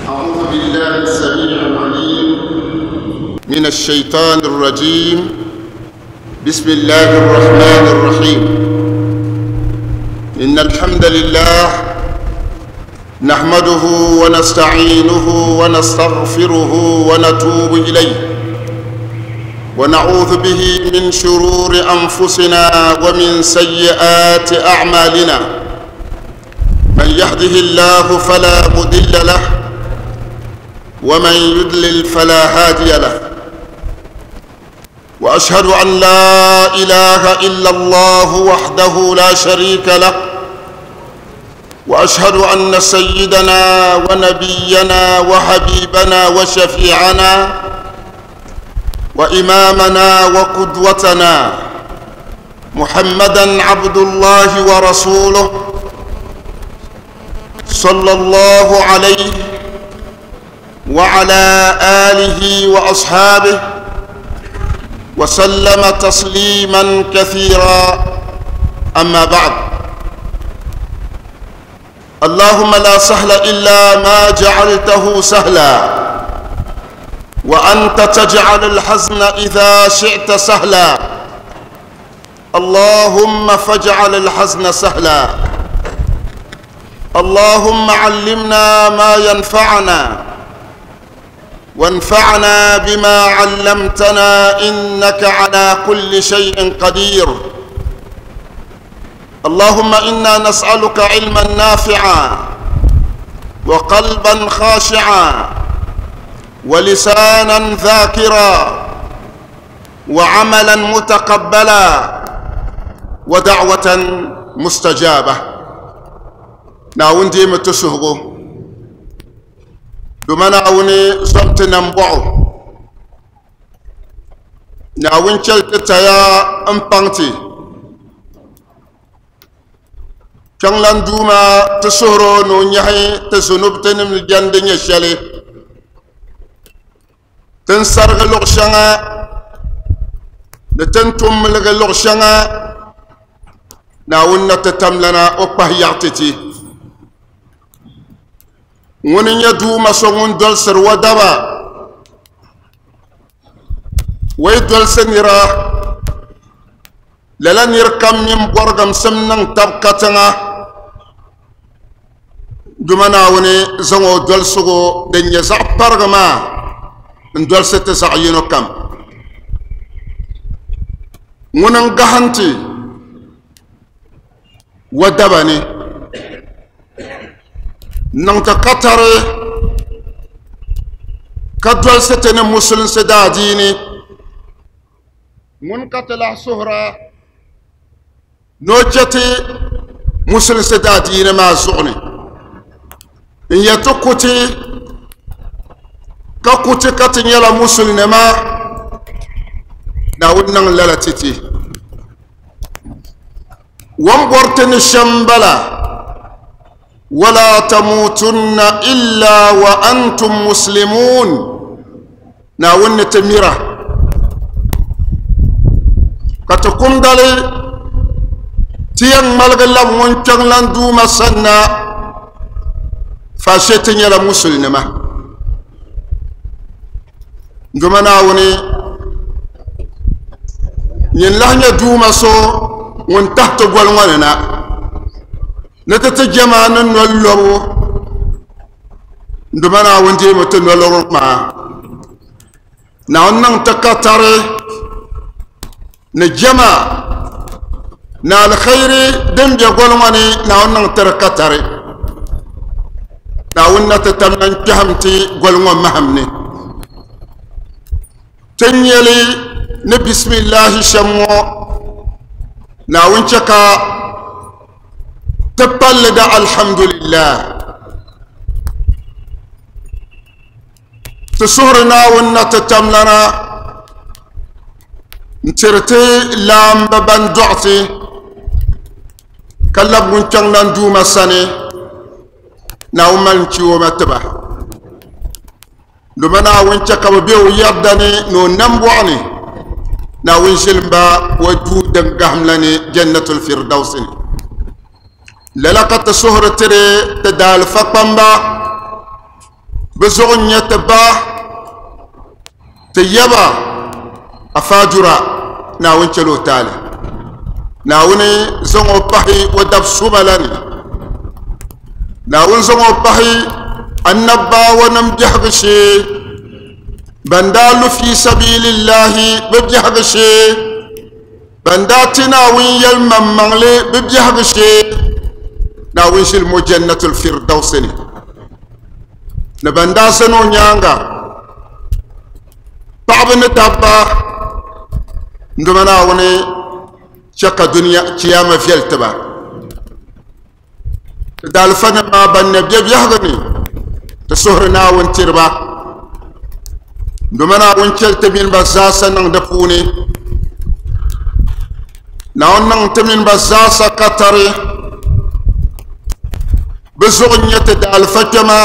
أعوذ بالله السميع العليم من الشيطان الرجيم. بسم الله الرحمن الرحيم. إن الحمد لله نحمده ونستعينه ونستغفره ونتوب إليه، ونعوذ به من شرور أنفسنا ومن سيئات أعمالنا. من يهده الله فلا مضل له ومن يضلل فلا هادي له، وأشهد أن لا إله إلا الله وحده لا شريك له، وأشهد أن سيدنا ونبينا وحبيبنا وشفيعنا وإمامنا وقدوتنا محمدا عبد الله ورسوله صلى الله عليه وعلى آله وأصحابه وسلم تسليما كثيرا. أما بعد، اللهم لا سهل إلا ما جعلته سهلا، وأنت تجعل الحزن إذا شئت سهلا. اللهم فاجعل الحزن سهلا. اللهم علمنا ما ينفعنا، وانفعنا بما علمتنا، إنك على كل شيء قدير. اللهم إنا نسألك علما نافعا، وقلبا خاشعا، ولسانا ذاكرا، وعملا متقبلا، ودعوة مستجابة. ناون دي متسهغو دوما ناوني زمت نمبعو ناون چل تتايا امبانتي كان دوما تسهرو نو نيحي تزنوب تنم الجندن يشالي تنسرغ لغشانا نتنتم لغ لغشانا ناون نتتملنا أقبه يعتتي ŋuni nyɛ duuma so ŋun dolsiri o daba o yi dolsi nira lala nir kam mini bɔrigimsim niŋ tab katiŋa duma Naawuni zaŋ o dolsigu din nyɛ zaɣ parigi maa n dolsi ti zaɣ yino kam. Ŋuni n gahinti o daba ni niŋ ti katari ka dolsi ti ni musulinsi daadiini ŋun ka ti lahi suhura ni o chɛ ti musulinsi daadiini maa zuɣu ni n yɛ ti kuti ka kuti ka ti nyɛla musulinima Naawuni niŋ lala ti ti wan bɔri ti ni shɛm bala ولا تموتن إلا وأنتم مسلمون. ناون تميرة كتكون دالي تيان مالغلا مونچان لان دوما سنة فاشتن يلا مسلمة دوما ناوني ين لهنيا دوما سو ون تحت قولوانا نتت جمان نولو دوما ناون دي متن نولو ما ناون نان تكتر نجما نا الخير دم بيقولوني ناون نان تركتر ناون نتتمن كهمتي قولون مهمني تنيلي نبسم الله شمو ناون شكا تبلد الحمد لله تسهرنا ونتتملنا نترتي لام ببن دعتي كلب ونشان نندوما سني ناوما نشيو متبه لمنا ونشكا بيو يردني نو نمبوعني ناوين شلمبا وجود قهملني جنة الفردوس للقت سهر تري تدال فقنبا Bɛ zuɣu n-nyɛ ti ba, ti yaba Afaadura, Naawuni chɛl o taali. Naawuni zaŋ o pahi o dab suma la ni. Naawuni zaŋ o pahi annabawanim biɛhigu shee, ban daa lu fi sabilillahi bɛ biɛhigu shee, ban daa ti Naawuni yɛlimaŋmaŋli bɛ biɛhigu shee, Naawuni ʒili mo Jannatul Firdausi ni, ni ban daa zani o nyaaŋa paɣaba ni dabba n duma Naawuni chɛ ka dunia chiyaama viɛli tiba. Ti daalifa nim maa ban na bɛ biɛhigu ni ti suhuri Naawuni tiri ba duma Naawuni chɛli ti mini ba zaasa niŋ di puuni. Naawuni niŋ ti mini ba zaasa katari. Bɛ zuɣu n-nyɛ ti daalifa kpɛma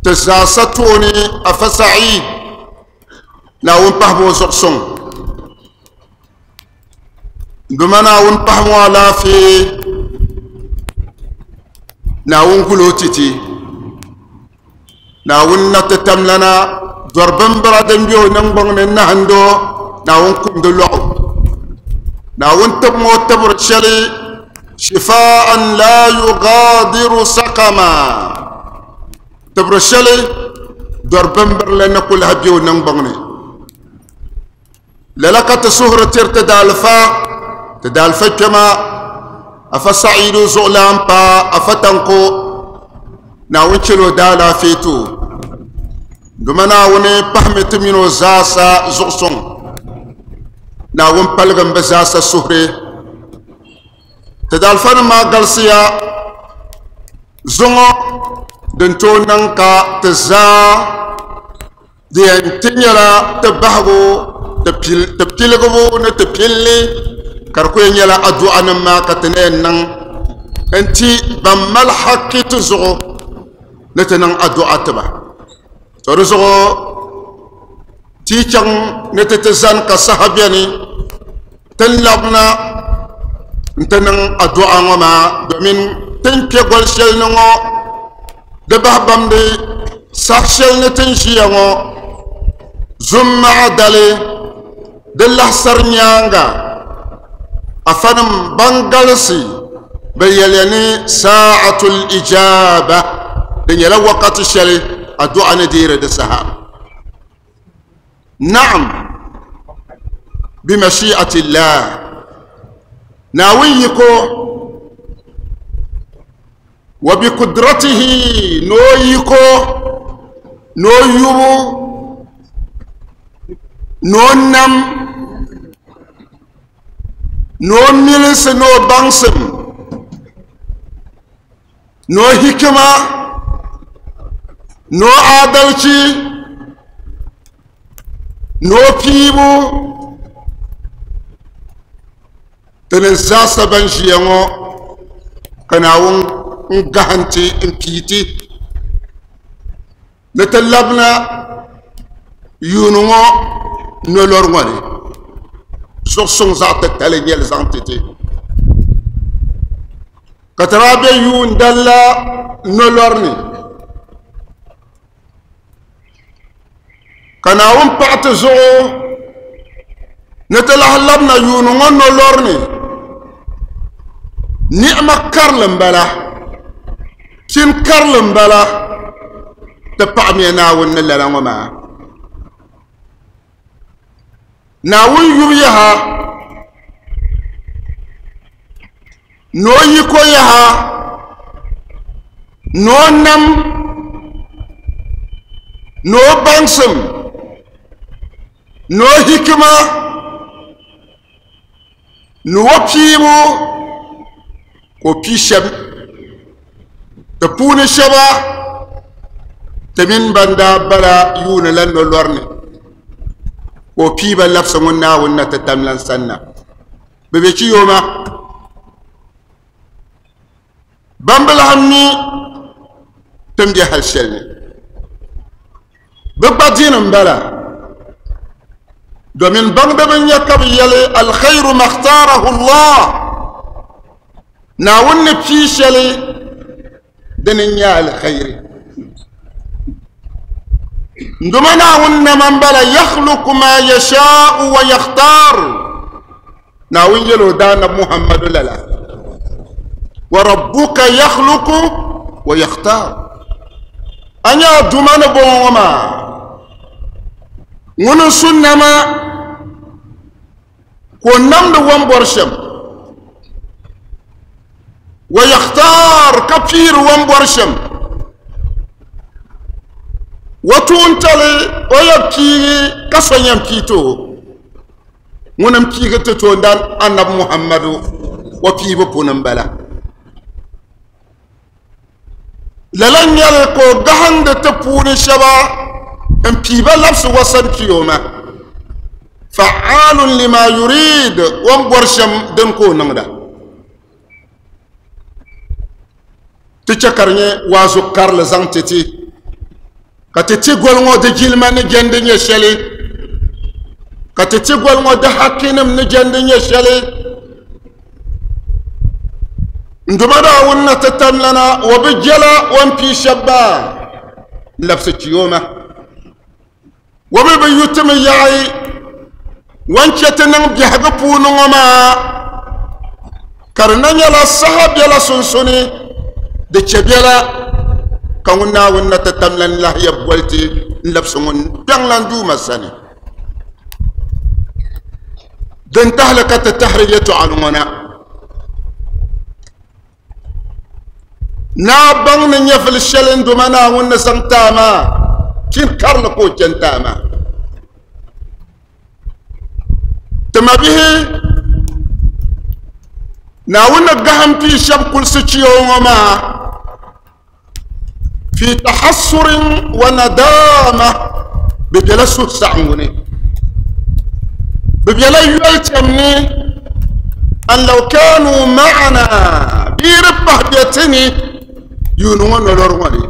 ti zaasa tooni Afa Saeed, Naawuni pahimi o zuɣu suŋ. Duma Naawuni pahimi o alaafee, Naawuni guli o titi. Naawuni na ti tamlana dɔri bimbira din be o niŋgbuŋ ni nahindi o, Naawuni kum di lɔɣu. Naawuni tibimi o tibiri shɛli shifaa'an la yugaadiru saqama, tibiri shɛli dɔri bimbirili ni ku lahi be o niŋgbuŋ ni. Lala ka ti suhuri tiri ti daalifa, ti daalifa kpɛma Afa Sa'idu zuɣulan pa Afa Tanko, Naawuni chɛl o daalaafee ti o. Duma Naawuni pahimi ti mini o zaasa zuɣusuŋ. Naawuni paligim bɛ zaasa suhuri. Ti daalifanim maa galisiya zuŋɔ din tooi niŋ ka ti zaa Di yɛn ti nyɛla ti bahigu, ti piligibu ni ti pilli ka di ku yɛn nyɛla adu'a nim maa ka ti na yɛn niŋ n-ti ban mali hakki ti zuɣu ni ti niŋ adu'a tiba. To di zuɣu ti yi chaŋ ni ti ti zani ka saha beni ti ni labina n-ti niŋ adu'a ŋɔ maa domin ti ni kpe goli shɛli ni ŋɔ di bahi bamdi saha shɛli ni ti ni ʒiya ŋɔ Zummaɣa dali di lahisari nyaaŋa afanim ban galisi bɛ yɛliya ni sa'atul ijaba di nyɛla wakati shɛli adu'a ni deeri di saha. Na'am bimashi'atillah Naawuni yiko wa bi kudratihi ni o yiko ni o yubu ni o nam ni o milinsi ni o baŋsim ni o hikima ni o adalchi ni o piibu Ti ni zaasa ban ʒiya ŋɔ ka Naawuni n gahinti n pii ti ni ti labina yuuni ŋɔ nolori ŋɔ ni zuɣusuŋ zaɣ titali n nyɛli zaŋ ti ti ka ti daa be yuun dali la nolori ni Ka Naawuni paɣi ti zuɣu ni ti lahi labina yuuni ŋɔ nolɔri ni. Ni'ima karili m-bala, pini karili m-bala, ti paɣimiya Naawuni ni lala ŋɔ maa. Naawuni yubu yaha ni o yiko yaha ni o nam ni o baŋsim ni o hikima ni o piibu ka o pii shɛba di puuni shɛba ti mini ban daa bala yuuni la nolɔri ni ka o pii ba labisi ŋun Naawuni na ti tamlan sanna bɛ be chiyooma ban bi lahi mi ti ni be hali shɛli ni bɛ gba dini m-bala domin baŋdiba n-nyɛ ka bɛ yɛli alkhairu makhtarahu Allah Naawuni ni pii shɛli dini n-nyɛ alkhairi. Nduma Naawuni nama n-bala yakhluqu ma yashaa'u wa yakhtar. Naawuni yɛl o daanab Muhammadu lala. Wa rabbuka yakhluqu wa yakhtar. A nya a Duuma ni bɔŋɔ ŋɔ maa, ŋuni n-su nama ka o namdi o ni bɔri shɛm. Wa yakhtar ka piiri o ni bɔri shɛm. O tuuntali o yɛn piigi ka so yɛn pii ti o. Ŋuni m-piigi ti toondan Anabi Muhammadu o piibu puni m-bala. Lala n-nyɛli ka o gahindi ti puuni shɛba m-pii ba labisi o sani kpiyoma. Fa'aalun lima yurid, o ni bɔri shɛm dini ka o niŋda. Ti chɛ ka di nyɛ waazu karili zaŋ ti ti, ka ti ti goli ŋɔ di jilima ni jɛndi nyɛ shɛli, ka ti ti goli ŋɔ di hakinim ni jɛndi nyɛ shɛli. N Duuma Naawuni na ti tamlana o bi jɛla o ni pii shɛba maa n-labisi kpiyoma. O mi bi yu ti mi yaɣi o ni chɛ ti niŋ biɛhigu puuni ŋɔ maa, ka di na nyɛla saha bela sunsuni di chɛ bela ka ŋun Naawuni na ti tamlan lahi yɛn boli ti n-labisi ŋun kpiɔŋlan Duuma sani. Din tahili ka ti tahiri yɛtɔɣili ŋɔ na. Naa baŋ ni nyɛvili shɛli n Duuma Naawuni ni zaŋ ti a maa, pini karili ka o chɛ n-ti a maa. Ti mabihi, Naawuni ni gahim pii shɛb kulisi chiyo ŋɔ maa, fi tahassurin wa nadama, bɛ bela suhusaɣiŋgu ni, bɛ bela yolitɛm ni, an law kanu ma'ana, bɛ di pahi be ti ni yuuni ŋɔ nolori ŋɔ ni,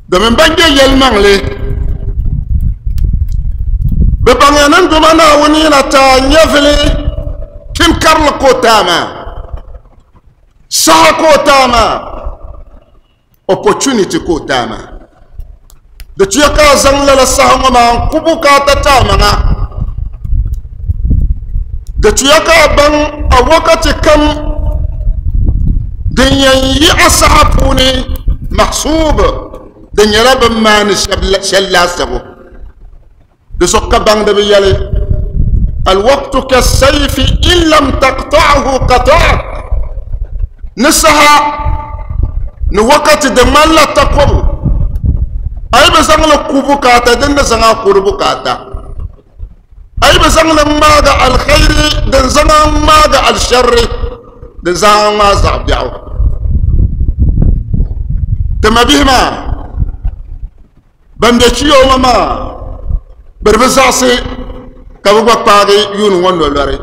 domin ban nyɛ yɛlimaŋli, bɛ baŋya ni n Duuma Naawuni yi na ti a nyɛvili pini karili ka o ti a maa. Saha ka o taai maa, opportunity ka o taai maa. Di tuya ka a zaŋ lala saha ŋɔ maa n-ku bukaata ti a maŋa. Di tuya ka a baŋ a wakati kam din yɛn yi a saha puuni mahsuub di nyɛla bɛ ni maani shɛli laasabu. Di zuɣu ka baŋdiba yɛli, Alwaktu kasayfi in lam taqta'hu qata'ak, ni saha ni wakati di ŋmanila takɔbu, a yi bi zaŋ li ku bukaata din ni zaŋ a ku di bukaata, a yi bi zaŋ li ŋmaagi alkhairi din zaŋ a ŋmaagi alsharri din zaŋ a ŋmaagi zaɣ biɛɣu. Ti mabihi maa Ban be chiyooma maa bɛ di bi zaɣisi ka bɛ gba kpaagi yuuni ŋɔ nolɔri.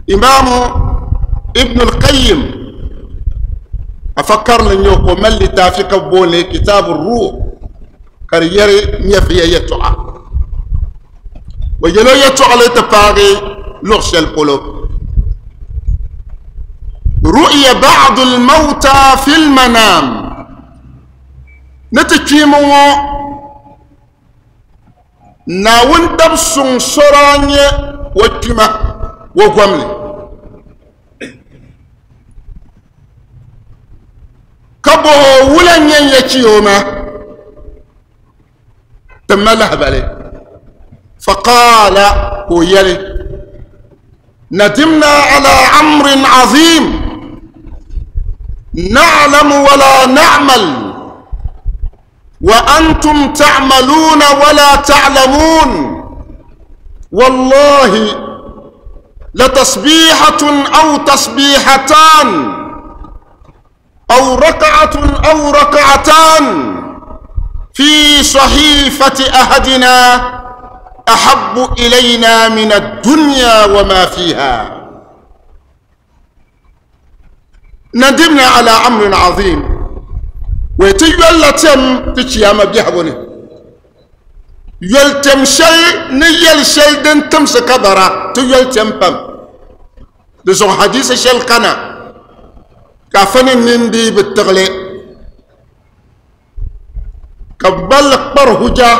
Imaamu Ibn al-Qayyim afa karili n-nyɛ o ka o mali litaafi ka bɛ booni li Kitaabu Ruh ka di yɛri nyɛviya yɛtɔɣa. O yɛl o yɛtɔɣili ti paagi luɣ shɛli polo. Ru'ya ba'du al-mawta fi al-manam ni ti kpiimi ŋɔ Naawuni dab suŋ so daa nyɛ o kpima o gomli ka bɔh o wula n-nyɛ n ya kpi o ma Ti ma lahibali faqaala ka o yɛli nadimna ala amrin azim na'lamu wala na'mal wa antum ta'maluna wala ta'lamun wallahi latasbihatun aw tasbihatan أو ركعة أو ركعتان في صحيفة أحدنا أحب إلينا من الدنيا وما فيها ندمنا على أمر عظيم ويتي تم تشيام بيحبني yoli tɛm shɛli ni yɛli shɛli din timsi ka bara ti yoli tɛm pam di zuɣu hadisi shɛli kana ka afa ni nini dii bi tiɣili Ka gballi kpari huja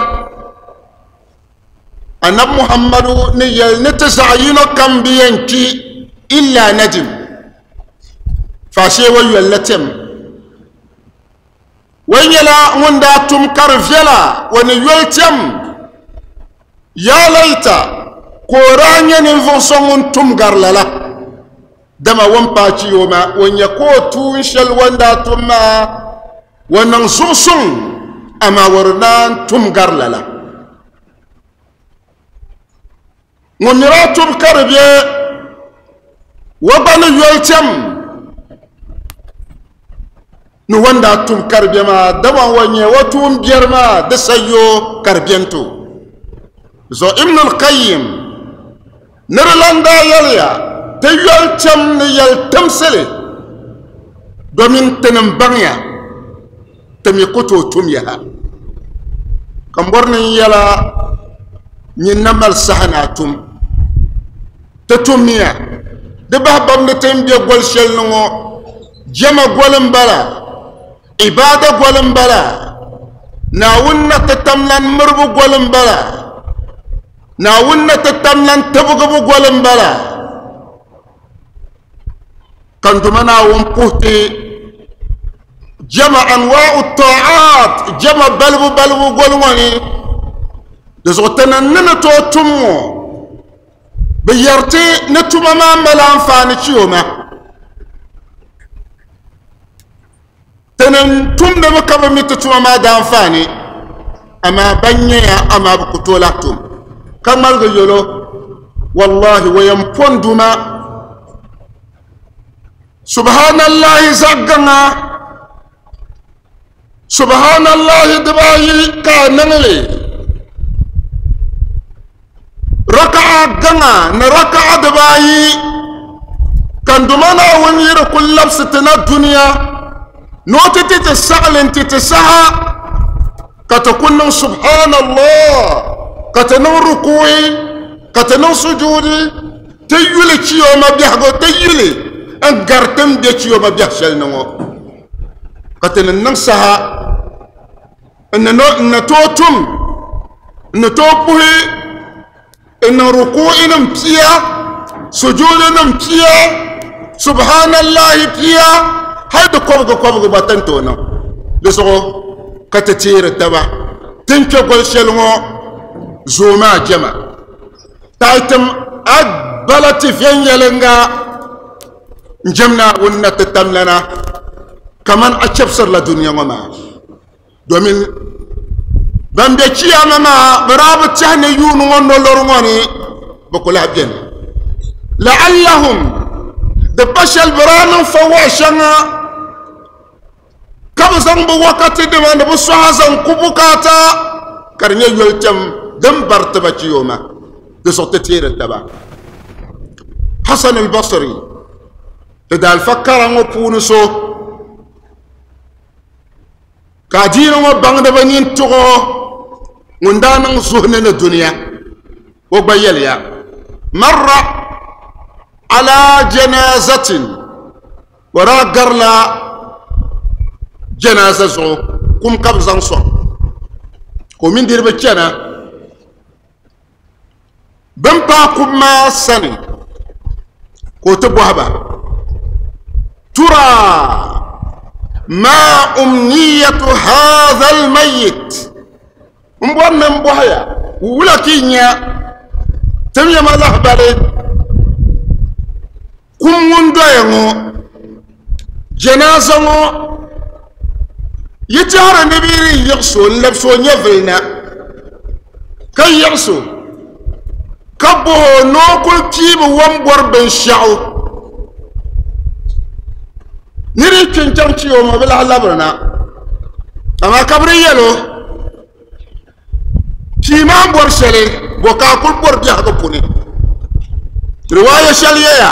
Annabi Muhammadu ni yɛli ni ti zaɣ yino kam bi yɛn kpi illa nadim, faashee o yoli la tɛm. O nyɛla ŋun daa tum ka di viɛla o ni yoli tɛm. Ya layta ka o daa nyɛ ninvuɣ so ŋun tum gari lala, dama o ni paai chiyo maa, o nya ka o tuun shɛli o ni daa tum maa o niŋ zuɣusuŋ, amaa o di naan tum gari lala. Ŋun mi daa tum ka di be o gba ni yoli tɛm ni o ni daa tum ka di be maa, dama o nyɛ o tuun biɛri maa di sayo ka di beni ti o. Zuɣu Ibn al-Qayyim ni di lan daa yɛliya, Ti yoli tɛm ni yɛli timsili domin tinim baŋya ti mi ku tooi tum yaha. Ka m bɔri ni n yɛla nyin na mali saha ni a tum. Ti tummiya di bahi bam ni ti ni be goli shɛli ni ŋɔ, jɛma goli m-bala, ibaada goli m-bala, Naawuni na ti tamlan miribu goli m-bala, Naawuni na ti tamlan tibigibu goli m-bala. Ka n Duuma Naawuni puhi ti jɛma anwaa'u ta'at, jɛma balibu balibu goli ŋɔ ni. Di zuɣu ti ni ni ni tooi tum ŋɔ, bɛ yɛri ti ni tuma maa mali anfaani chiyoma. Ti ni tumdimi ka bi mi ti tuma maa daanfaani, amaa ban nyɛya amaa bɛ ku tooi lahi tum ka ŋmaligi yɛl o, Wallahi o yɛn po n Duuma, Subhanallahi zaɣ gaŋa, Subhanallahi dibaayi ka a niŋ li, raka'a gaŋa ni raka'a dibaayi ka n Duuma Naawuni yi di kuli labisi ti na dunia ni o ti ti ti saɣili n-ti ti saha ka ti ku niŋ subhanallah ka ti niŋ ruku'i ka ti niŋ sujuudi ti yuli chiyooma biɛhigu ti yuli n gari ti ni be chiyooma biɛhi shɛli ni ŋɔ ka ti ni niŋ saha N ni tooi tum, n ni tooi puhi n niŋ rukuu'inim pia, sujuudinim pia, subhanallahi pia, hali di kɔbigi kɔbigi gba ti ni tooi niŋ. Di zuɣu ka ti teeri taba ti ni kpe goli shɛli ŋɔ zooi maa jɛma. Tayitim a bala ti viɛnyɛliŋga n-jɛm Naawuni na ti tamlana kaman a chɛbisirila dunia ŋɔ maa. Domin ban be chiyaama maa bɛ daa bi tɛhi ni yuuni ŋɔ nolori ŋɔ ni bɛ ku lahi beni. La'allahum di pa shɛli bɛ daa niŋ fawɔɣu shɛŋa ka bɛ zaŋ bɛ wakati dima ni bɛ sɔha zaŋ ku bukaata ka di nyɛ yoli tɛm din bari ti ba chiyooma di zuɣu ti teeri taba. Hasan al-Basri di daalifa kara ŋɔ puuni so Ka adiini ŋɔ baŋdiba nini tuɣi o ŋun daa niŋ zuhuni ni dunia. O gba yɛliya, Marra ala janazatin, o daa garila janaza zuɣu, kum ka bɛ zaŋ sɔŋ ka o mini niriba chana. Bɛ ni paai kum maa sani ka o ti bɔhi ba, Tura ma umniyatu haza almayit? M bɔri ni m bɔhi ya, wula ka yi nya tim ya ma lahibali kum ŋun doya ŋɔ, janaza ŋɔ, yi tɛhiri ni bɛ yi yiɣis o n-labis o nyɛvili na, ka yiɣis o ka bɔh o ni o kul piimi o ni bɔri binshɛɣu nir yi kpi n-chaŋ chi o ma bi lahi labirina, amaa ka bɛ di yɛl o, Pii maa bɔri shɛli bɔ ka a kuli bɔri biɛhigu puuni. Riwaaya shɛli yɛya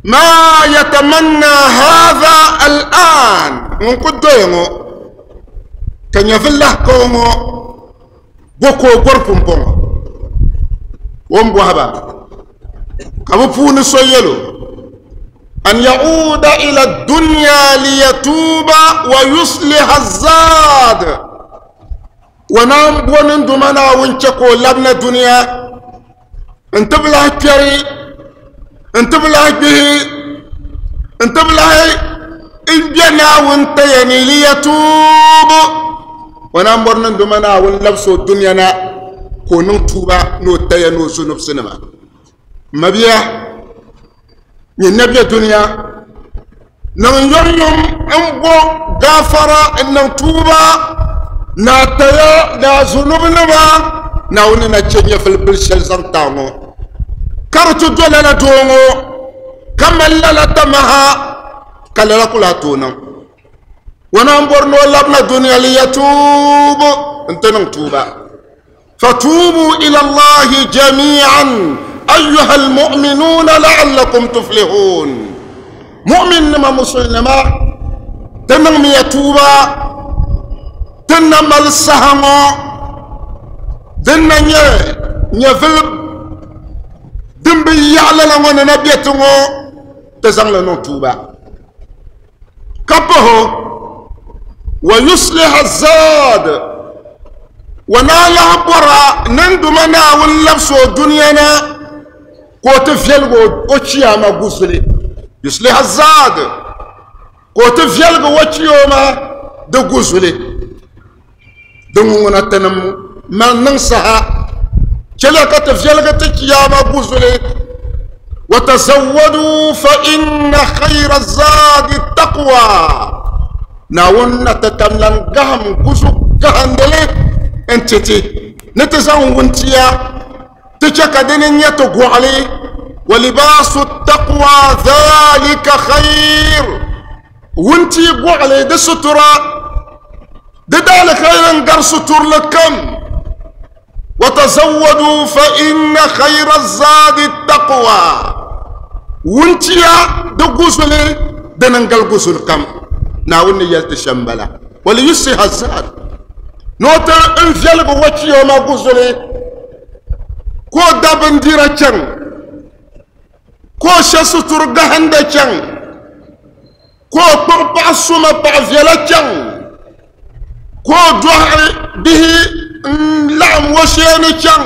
maa yatamanna hadha al'an ŋun ku doya ŋɔ ka nyɛvili lahi ka o ŋɔ bɔ ka o bɔri pumpɔŋɔ o ni bɔhi ba ka bɛ puuni so yɛl o an yauda ila dunya liyatuba wa yusliha zad. Wa naan bo ni Duuma Naawuni chɛ ka o labina dunia n-ti bi lahi kpɛri, n-ti bi lahi gbihi, n-ti bi lahi be Naawuni taya ni liyatuubu. O naan bɔri ni Duuma Naawuni labisi o dunia na ka o niŋ tuuba ni o taya ni o zunubsinima. M mabia, nyin na be dunia, niŋ yomyom n-bo gaafara n-niŋ tuuba ni a taya ni a zunubinima Naawuni ni na chɛ nyɛvili bil shɛli zaŋ ti a ŋɔ. Ka di ti do lala doo ŋɔ ka mali lala tamaha ka lala ku lahi tooi niŋ. O naan bɔri ni o labina dunia liyatuubu nti niŋ tuuba. Fatuubu ila Allahi jami'an ayyuha almu'minuuna la'allakum tuflihun. Mu'min nima musulnima ti niŋmiya tuuba ti na mali saha ŋɔ din na nyɛ nyɛvili din bi yaɣi lala ŋɔ ni na be ti ŋɔ ti zaŋli niŋ tuuba. Ka pahi wa yusliha zaad wa naa lahi bɔra ninduma Naawuni labisi o dunia na ka o ti viɛligi o chiyaama guzuli. Yusliha zaad ka o ti viɛligi o chiyooma di guzuli. Din ŋuna tinim mali niŋ saha chɛliya ka ti viɛligi ti chiyaama guzuli. Wa tazawwadu fa inna khayra zaadi taqwa. Naawuni na ti tam lan gahim guzu gahindili n-ti ti ni ti zaŋ wuntia ti chɛ ka dini n-nyɛ ti gɔɣili. Wa libaasu taqwa dhalika khayr. Wuntia gɔɣili di sutura di daalikairi n-gari suturili kam. Wa tazawwadu fa inna khayra zaadi taqwa. Wuntia di guzuli dini n-gali guzuli kam. Naawuni ni yɛli ti shɛm m-bala. Wa liyusliha zaad. Ni o ti n viɛligi wachiyooma guzuli ka o da bindira chaŋ ka o she suturi gahinda chaŋ ka o kpuɣi paɣa suma paɣa viɛla chaŋ ka o dɔɣi bihi n-laɣim o sheeni chaŋ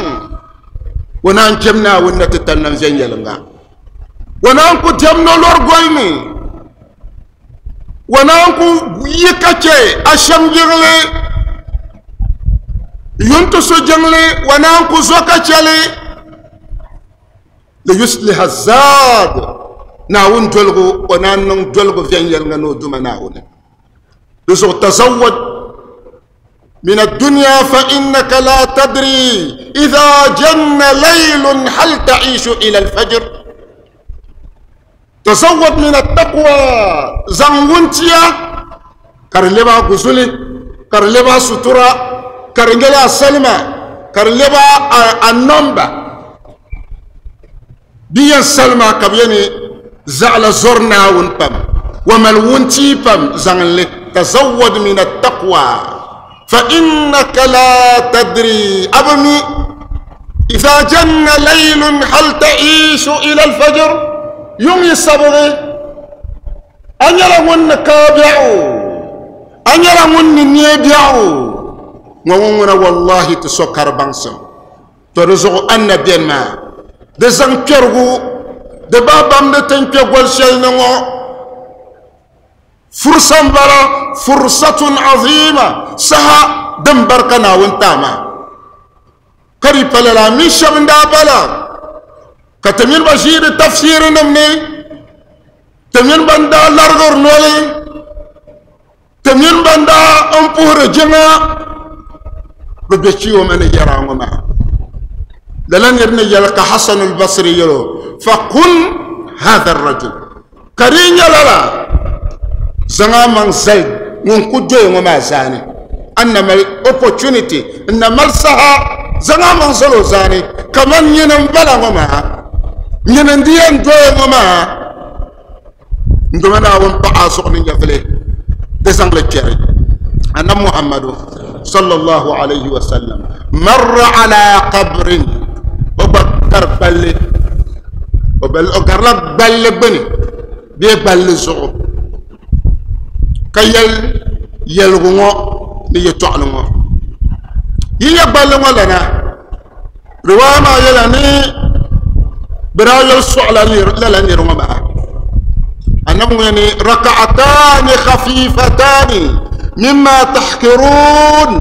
o naan kpɛm Naawuni na ti tali nam viɛnyɛliŋga o naan ku diɛm ni o lɔri goli ni o naan ku yi ka chɛ ashɛm jiŋli yuntusu jiŋli o naan ku zo ka chɛli liyusliha zaad Naawuni doligu o naan niŋ doligu viɛnyɛliŋga ni o Duuma Naawuni. Di zuɣu tazawwad min ad-dunya fa innaka la tadri idha janna laylun hal ta'ishu ila al-fajr. Tazawwad min at-taqwa zaŋ wuntia ka di lɛbi a guzuli ka di lɛbi a sutura ka di nyɛla a salima ka di lɛbi a nɔmba. Di yɛn salima ka bɛ yɛn zaɣila zɔri Naawuni pam wa mali wuntia pam zaŋ li tazawwad min at-taqwa fa innaka la tadri a bi mi idha janna laylun hal ta'ishu ila al-fajr yuŋ yi sabigi a nyɛla ŋun ni kaai biɛɣu a nyɛla ŋun ni neei biɛɣu ŋɔ ŋun ŋuna wallahi ti so kari baŋsim. To di zuɣu a ni na beni maa, di zaŋ kpɛrigu di bahi bamdi ti ni kpe goli shɛli ni ŋɔ. Fursa m-bala, fursatun azima, saha din barika Naawuni ti a maa. Ka di pa lala, a mini shɛba n-daa bala, ka ti mini ba ʒiiri tafsiirinim ni, ti mini ba n-daa larigiri noli, Ti mini ban daa n puhiri jiŋa bi be chiyooma ni yɛra ŋɔ maa. Lala niri ni yɛli ka Hasan al-Basri yɛl o, Fakun hadha ar-rajul, ka di yi nyɛ lala, zaŋ a maŋ zali ŋun ku doya ŋɔ maa zaani. A ni na mali opportunity, n na mali saha, zaŋ a maŋ zali o zaani kaman nyini m-bala ŋɔ maa, nyini n-di yɛn doya ŋɔ maa. N Duuma Naawuni paɣ a zuɣu ni nyɛvili di zaŋ li kpɛri Annabi Muhammadu sallallahu alayhi wa sallam marra ala qabrin o gba gari gballi o garila gballi gbuni bee gballi zuɣu ka yɛli yɛligu ŋɔ ni yɛtɔɣili ŋɔ. Yi nyɛ gballi ŋɔ lana, riwaaya maa yɛla ni bɛ daa yoli sɔɣila lala niri ŋɔ maa. Annabi ŋɔ ni raka'atani khafifatani mimma tahkirun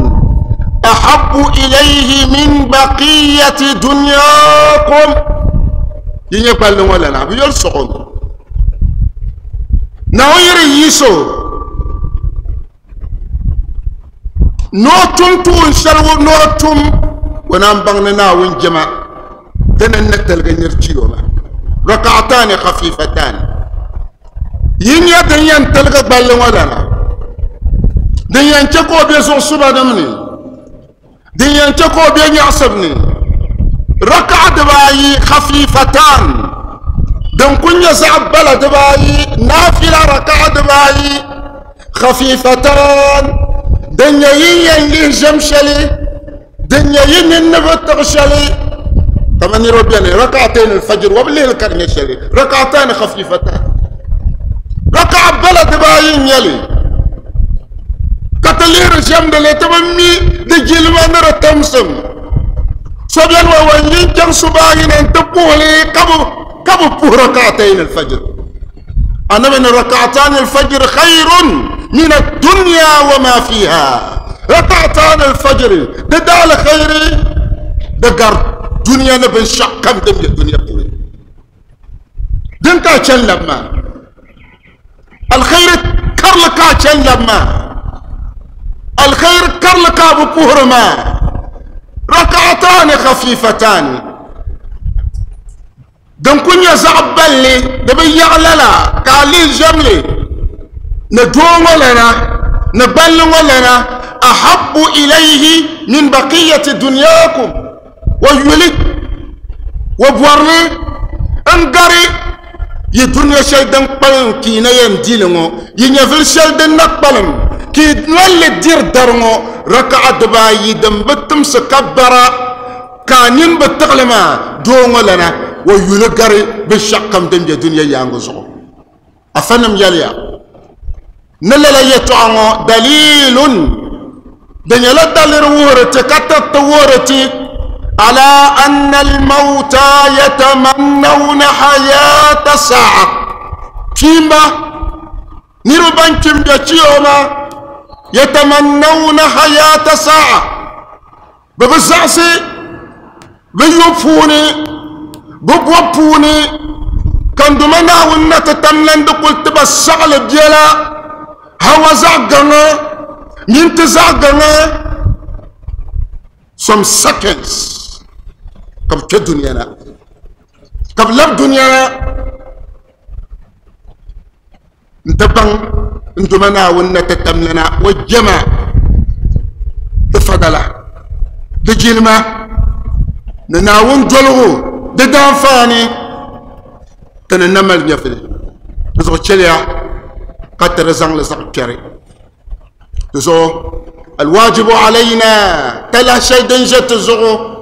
ahabbu ilayhi min baqiyati dunyakum. Yi nyɛ gballi ŋɔ lana, bɛ yoli sɔɣo mi. Naawuni yiri yi so ni o tum tuun shɛli ni o tum o naan baŋ ni Naawuni jɛma dini n ni tiligi nir chi o maa. Raka'atani khafifatani yi nyɛ din yɛn tiligi gballi ŋɔ lana, din yɛn chɛ ka o be zuɣusubanim ni, din yɛn chɛ ka o be nyaɣisib ni. Raka'a dibaayi khafifatan din ku nyɛ zaɣ bala dibaayi, naafila raka'a dibaayi khafifatan din nyɛ yin yɛn lihi ʒɛm shɛli, din nyɛ yi nini ni bi tiɣi shɛli, kamani niriba beni raka'atayn al-fajr wa bi lihili ka di nyɛ shɛli raka'atan khafifatan, raka'a bala dibaayi n nyɛli ka ti lihiri ʒɛmdili ti bi mi di jilima ni di timsim. So beni wa wan yi n-chaŋ subahi ni nti puhili ka bi puhi raka'atayn al-fajr. Annabi ni raka'atan al-fajr khayrun min ad-dunya wa ma fiha. Raka'atan al-fajr di daali khayri di gari dunia ni binshɛɣu kam din be dunia puuni. Din ka a chani labi maa, alkhairi karili ka a chani labi maa, alkhairi karili ka a bi puhiri maa. Raka'atani khafifatani din ku nyɛ zaɣ balli di bi yaɣi lala ka a lihi ʒɛmli ni doo ŋɔ lana ni balli ŋɔ lana ahabbu ilayhi min baqiyati dunyakum wa yuli wa bɔrili n gari yi dunia shɛli din kpalim ka yi na yɛn di li ŋɔ, yi nyɛvili shɛli din na kpalim ka yi nolli diri dari ŋɔ, raka'a dibaayi din bi timsi ka bara ka a nini bi tiɣili maa, doo ŋɔ lana o yuli gari binshɛɣukam din be dunia yaaŋa zuɣu. Afanim yɛliya ni lala yɛtɔɣa ŋɔ dalilun, di nyɛla daliri wuhiri ti ka tiriti wuhiri ti ala anna almauta yatamannawna hayata sa'a, kpiimba niriba ban kpi m-be chiyooma yatamannawna hayata sa'a, bɛ bi zaɣisi bɛ yu puuni, bɛ bɔbu puuni, ka n Duuma Naawuni na ti tam lan di kuli ti ba saɣili biɛla, hawa zaɣ gaŋa mini ti zaɣ gaŋa some seconds ka bɛ kpe dunia na, ka bɛ labi dunia na n-ti baŋ n Duuma Naawuni na ti tam lana o jɛma di fadala, di jilima ni Naawuni doligu di daanfaani ti ni na mali nyɛvili. Di zuɣu chɛliya ka ti di zaŋ li zaɣ kpɛri. Di zuɣu alwajibu alayna talahi shɛli din ʒe ti zuɣu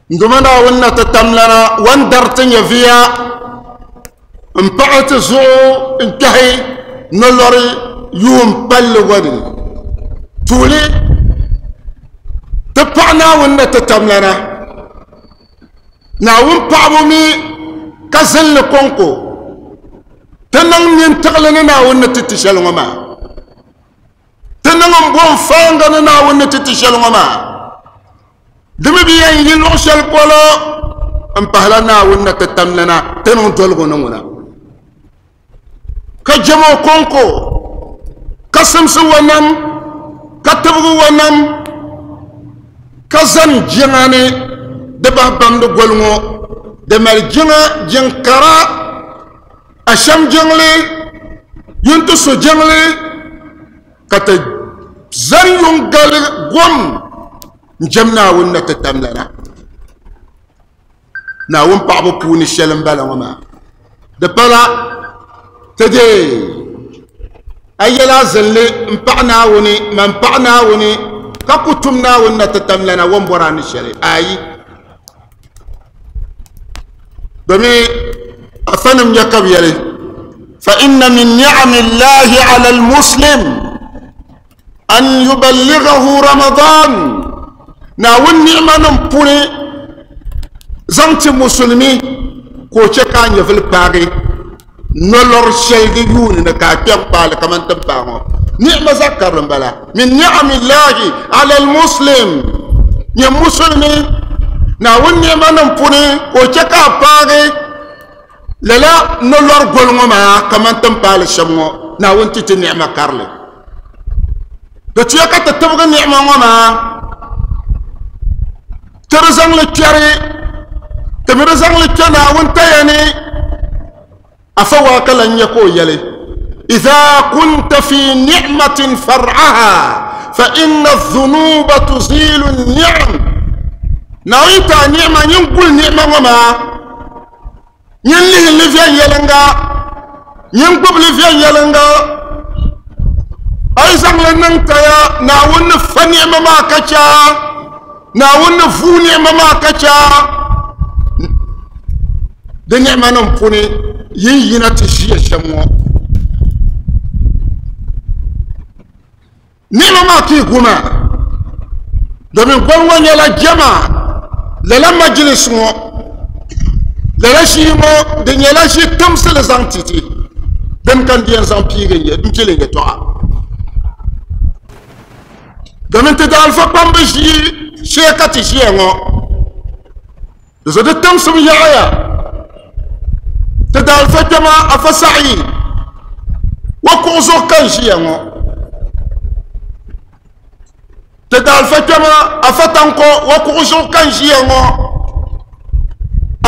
N Duuma Naawuni na ti tam lana wan dari ti nyɛviya m-paɣi ti zuɣu n-kpɛhi nolɔri yuun palli ŋɔ ni. Tuuli, ti paɣi Naawuni na ti tam lana. Naawuni paɣibu mi ka zinli kɔŋko. Ti niŋ nintiɣili ni Naawuni ni ti ti shɛli ŋɔ maa. Ti niŋ m-bo n-faaŋga ni Naawuni ni ti ti shɛli ŋɔ maa. Di mi bi yɛn yi luɣ shɛli polo m-pahila Naawuni na ti tamlana ti niŋ doligu ni ŋuna, ka jɛm o kɔŋko, ka simsi o nam, ka tibigi o nam, ka zani jiŋa ni di bahi bamdi goli ŋɔ. Di mali jiŋa jiŋ kara, Asham jiŋli, Yuntusu jiŋli, ka ti zani yuŋ gali gom n-jɛm Naawuni na ti tamlana. Naawuni paɣibu puuni shɛli m-bala ŋɔ maa. Di pala ti deei a yɛla a zinli m-paɣi Naawuni, man paɣi Naawuni, ka ku tum Naawuni na ti tamlana o ni bɔri a ni shɛli. Ayi! Domin afanim nyɛ ka bɛ yɛli, fa inna min ni'ami Allahi ala al-muslim. An yuballighahu Ramadan, Naawuni ni'manim puuni zaŋ ti musulimi ka o chɛ ka a nyɛvili paagi nolɔri shɛli di yuuni ni ka a kpɛm paali kamani ti paai ŋɔ. Ni'ma zaɣ karili m-bala. Min ni'amillahi ala al-muslim, nyɛ musulimi Naawuni ni'manim puuni ka o chɛ ka a paagi lala nolɔri goli ŋɔ maa kamani ti ni paali shɛm ŋɔ. Naawuni ti ti ni'ma karili. Di tuya ka ti tibigi ni'ima ŋɔ maa, ti di zaŋ li kpɛri, ti mi di zaŋ li kpɛ Naawuni taya ni. Afa waa ka lan nyɛ ka o yɛli, Idha kunta fi ni'matin far'aha fa inna dhunuba tuzilu ni'am. Naawuni yi ti a ni'ima, nyin guli ni'ima ŋɔ maa, nyin lihi li viɛnyɛliŋga, nyin gbubi li viɛnyɛliŋga. A yi zaŋ li niŋ taya, Naawuni ni fa ni'ima maa ka chɛ a, Naawuni ni vuui ni'ima maa ka chɛ a. Di ni'ima nim puuni yin yina ti ʒiya shɛm ŋɔ. Ni'ima maa ka yi gu maa, domin goli ŋɔ nyɛla jɛma lala majilis ŋɔ, lala ʒii ŋɔ di nyɛla ʒi timsili zaŋ ti ti, dini ka n di yɛn zaŋ piigi n pili yɛtɔɣa. Domin ti daalifa kpambi ʒii shee ka ti ʒiya ŋɔ, di zuɣu di timsim yaɣaya. Ti daalifa kpɛma Afa Saɣi wa kuɣu zuɣu ka n ʒiya ŋɔ. Ti daalifa kpɛma Afa Tanko wa kuɣu zuɣu ka n ʒiya ŋɔ.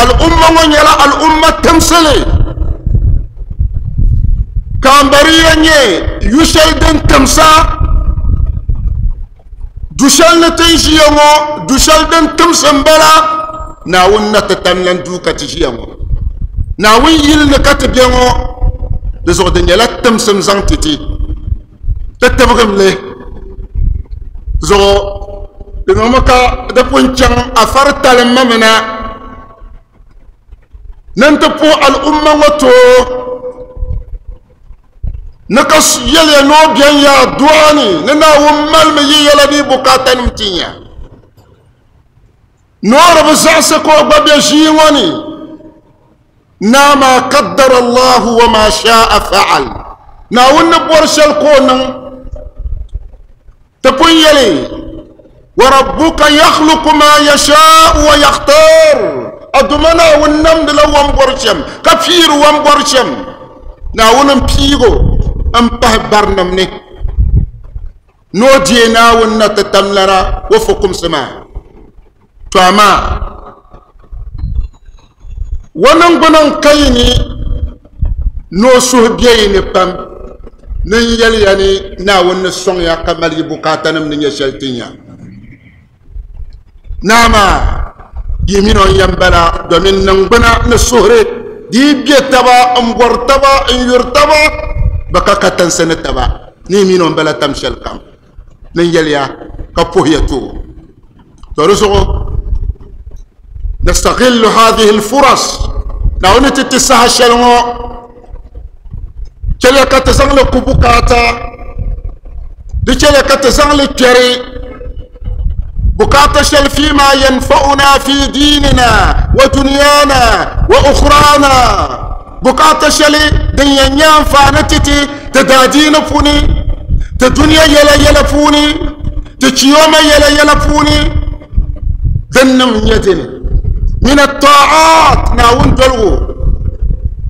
Al'umma ŋɔ nyɛla al'umma timsili ka Ambariya nyɛ yu shɛli din timsa. Du shɛli ni ti ni ʒiya ŋɔ, du shɛli din timsi m-bala. Naawuni na ti tam lan duu ka ti ʒiya ŋɔ. Naawuni yili ni ka ti be ŋɔ, di zuɣu di nyɛla timsim zaŋ ti ti. Ti tibigim li zuɣu di niŋmi ka di pun chaŋ afari talimma mi na ni n-ti puhi al'umma ŋɔ too. Ni ka yɛliya ni o bɛn ya adu'a ni ni Naawuni malimi yi yɛla ni yi bukaatanim tin ya. Ni o di bi zaɣisi ka o gba be ʒii ŋɔ ni, Naa maa qaddara Allahu wa ma sha'a fa'al. Naawuni ni bɔri shɛli ka o niŋ. Ti pun yɛli, Wa rabbuka yakhluqu ma yasha'u wa yakhtar. A Duuma Naawuni namdila o ni bɔri shɛm, ka piiri o ni bɔri shɛm. Naawuni m-piig o m-pahi barinim ni, ni o deei Naawuni na ti tamlana o fukumsi maa. To amaa, o niŋgbuna n-ka yi ni ni o suhu be yi ni pam ni n yɛli ya ni Naawuni ni sɔŋ ya ka mali yi bukaatanim ni nyɛ shɛli tin ya. Naa maa, yi min o n-yɛn bala, domin niŋgbuna ni suhuri di yi be taba m-bɔri taba n-yuri taba, bɛ ka katinsi ni taba ni yi min o m-bala tam shɛlikam. Ni n yɛli ya ka puhi ya too. To di zuɣu nastaghillu hadhihi alfuras, Naawuni ti ti saha shɛli ŋɔ, chɛliya ka ti zaŋli ku bukaata, di chɛliya ka ti zaŋli kpɛri bukaata shɛli fima yanfa'una fi dinina wa dunyana wa ukhrana, bukaata shɛli din yɛn nyɛ anfaani ti ti ti daadiini puuni, ti duniya yɛla yɛla puuni, ti chiyooma yɛla yɛla puuni. Din nim nyɛ dini min at-ta'at, Naawuni doligu,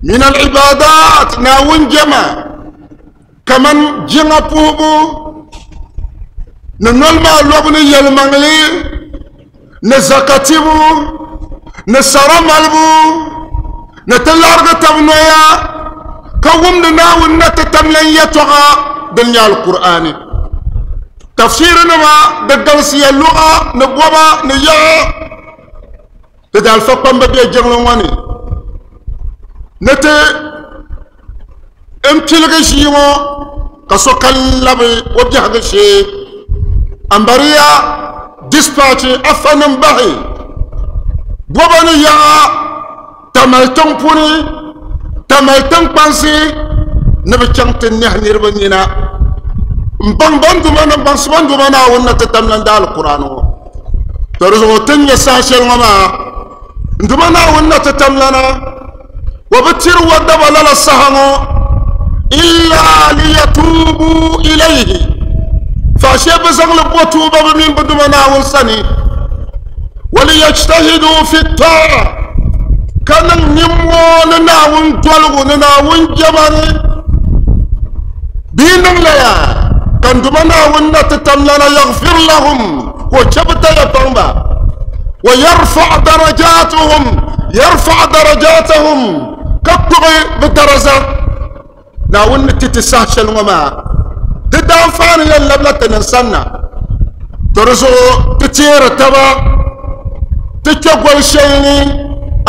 min al-ibadat, Naawuni jɛma, kaman jiŋa puhibu ni noli maa lɔbu ni yɛlimaŋli ni zakatibu ni sara malibu ni ti larigi tab noya ka wumdi Naawuni na ti tam lan yɛtɔɣa din nyɛ Alkur'aani. Tafsirinima di galisiya luɣa ni bɔba ni yaɣa. Di daalifa kpamba be jiŋli ŋɔ ni ni ti n piligi ʒii ŋɔ ka sokam labi o biɛhigu shee. Ambariya dispatch afanim bahi bɔba ni yaɣa Tamale tiŋ puuni, Tamale tiŋkpansi ni bi chaŋ ti nɛhi niriba nina. N baŋ ban duma ni baŋsi ban duma Naawuni na ti tam lan da alkur'ani ŋɔ. To di zuɣu ti ni nyɛ saha shɛli ŋɔ maa n duma Naawuni na ti tam lana o bi tiri o daba lala saha ŋɔ illa liyatubu ilayhi faashee bi zaŋli bo tuuba bi mini bi duma Naawuni sani waliyajtahidu fi taa ka niŋ nimmoo ni Naawuni doligu ni Naawuni jɛma ni bɛ yi niŋ lala ka n Duuma Naawuni na ti tam lana yaghfir lahum ka o chɛ bɛ taya paŋ ba wa yarfa darajatuhum yarfa darajatahum ka kpuɣi bɛ daraza Naawuni ni ti ti saha shɛli ŋɔ maa di daanfaani yɛn labila ti niŋ sanna to di zuɣu ti teeri taba ti kpɛ goli shɛli ni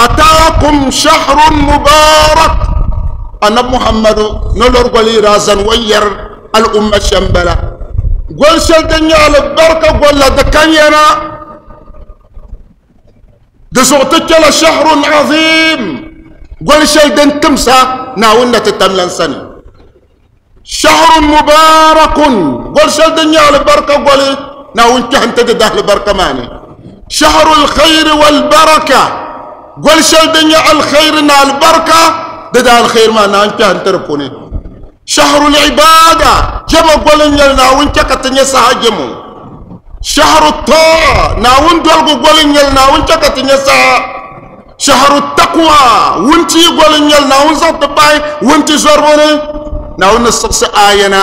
ataakum shahrun mubarak annabi muhammadu ni lori goli yi daa zani o yɛri al'umma shɛm bala goli shɛli din nyɛ alibarika goli la di kan yana di zuɣu ti kpɛla shahrun azim goli shɛli din timsa naawuni na ti tam lan sani shahrun mubarakun goli shɛli din nyɛ alibarika goli naawuni kpɛhi ti di dahalibarika maa ni shahrul khayri wal baraka goli shɛli din nyɛ alkhairi ni alibarika di da alkhairi maa naawuni kpɛhi ti di puuni shahrul ibada jɛma goli n nyɛli naawuni chɛ ka ti nyɛ saha jɛmo shahru taa naawuni doligu goli n nyɛli naawuni chɛ ka ti nyɛ saha shahru taqwa wunti goli n nyɛli naawuni zaŋ ti pahi wunti zɔribu ni naawuni ni siɣisi ayana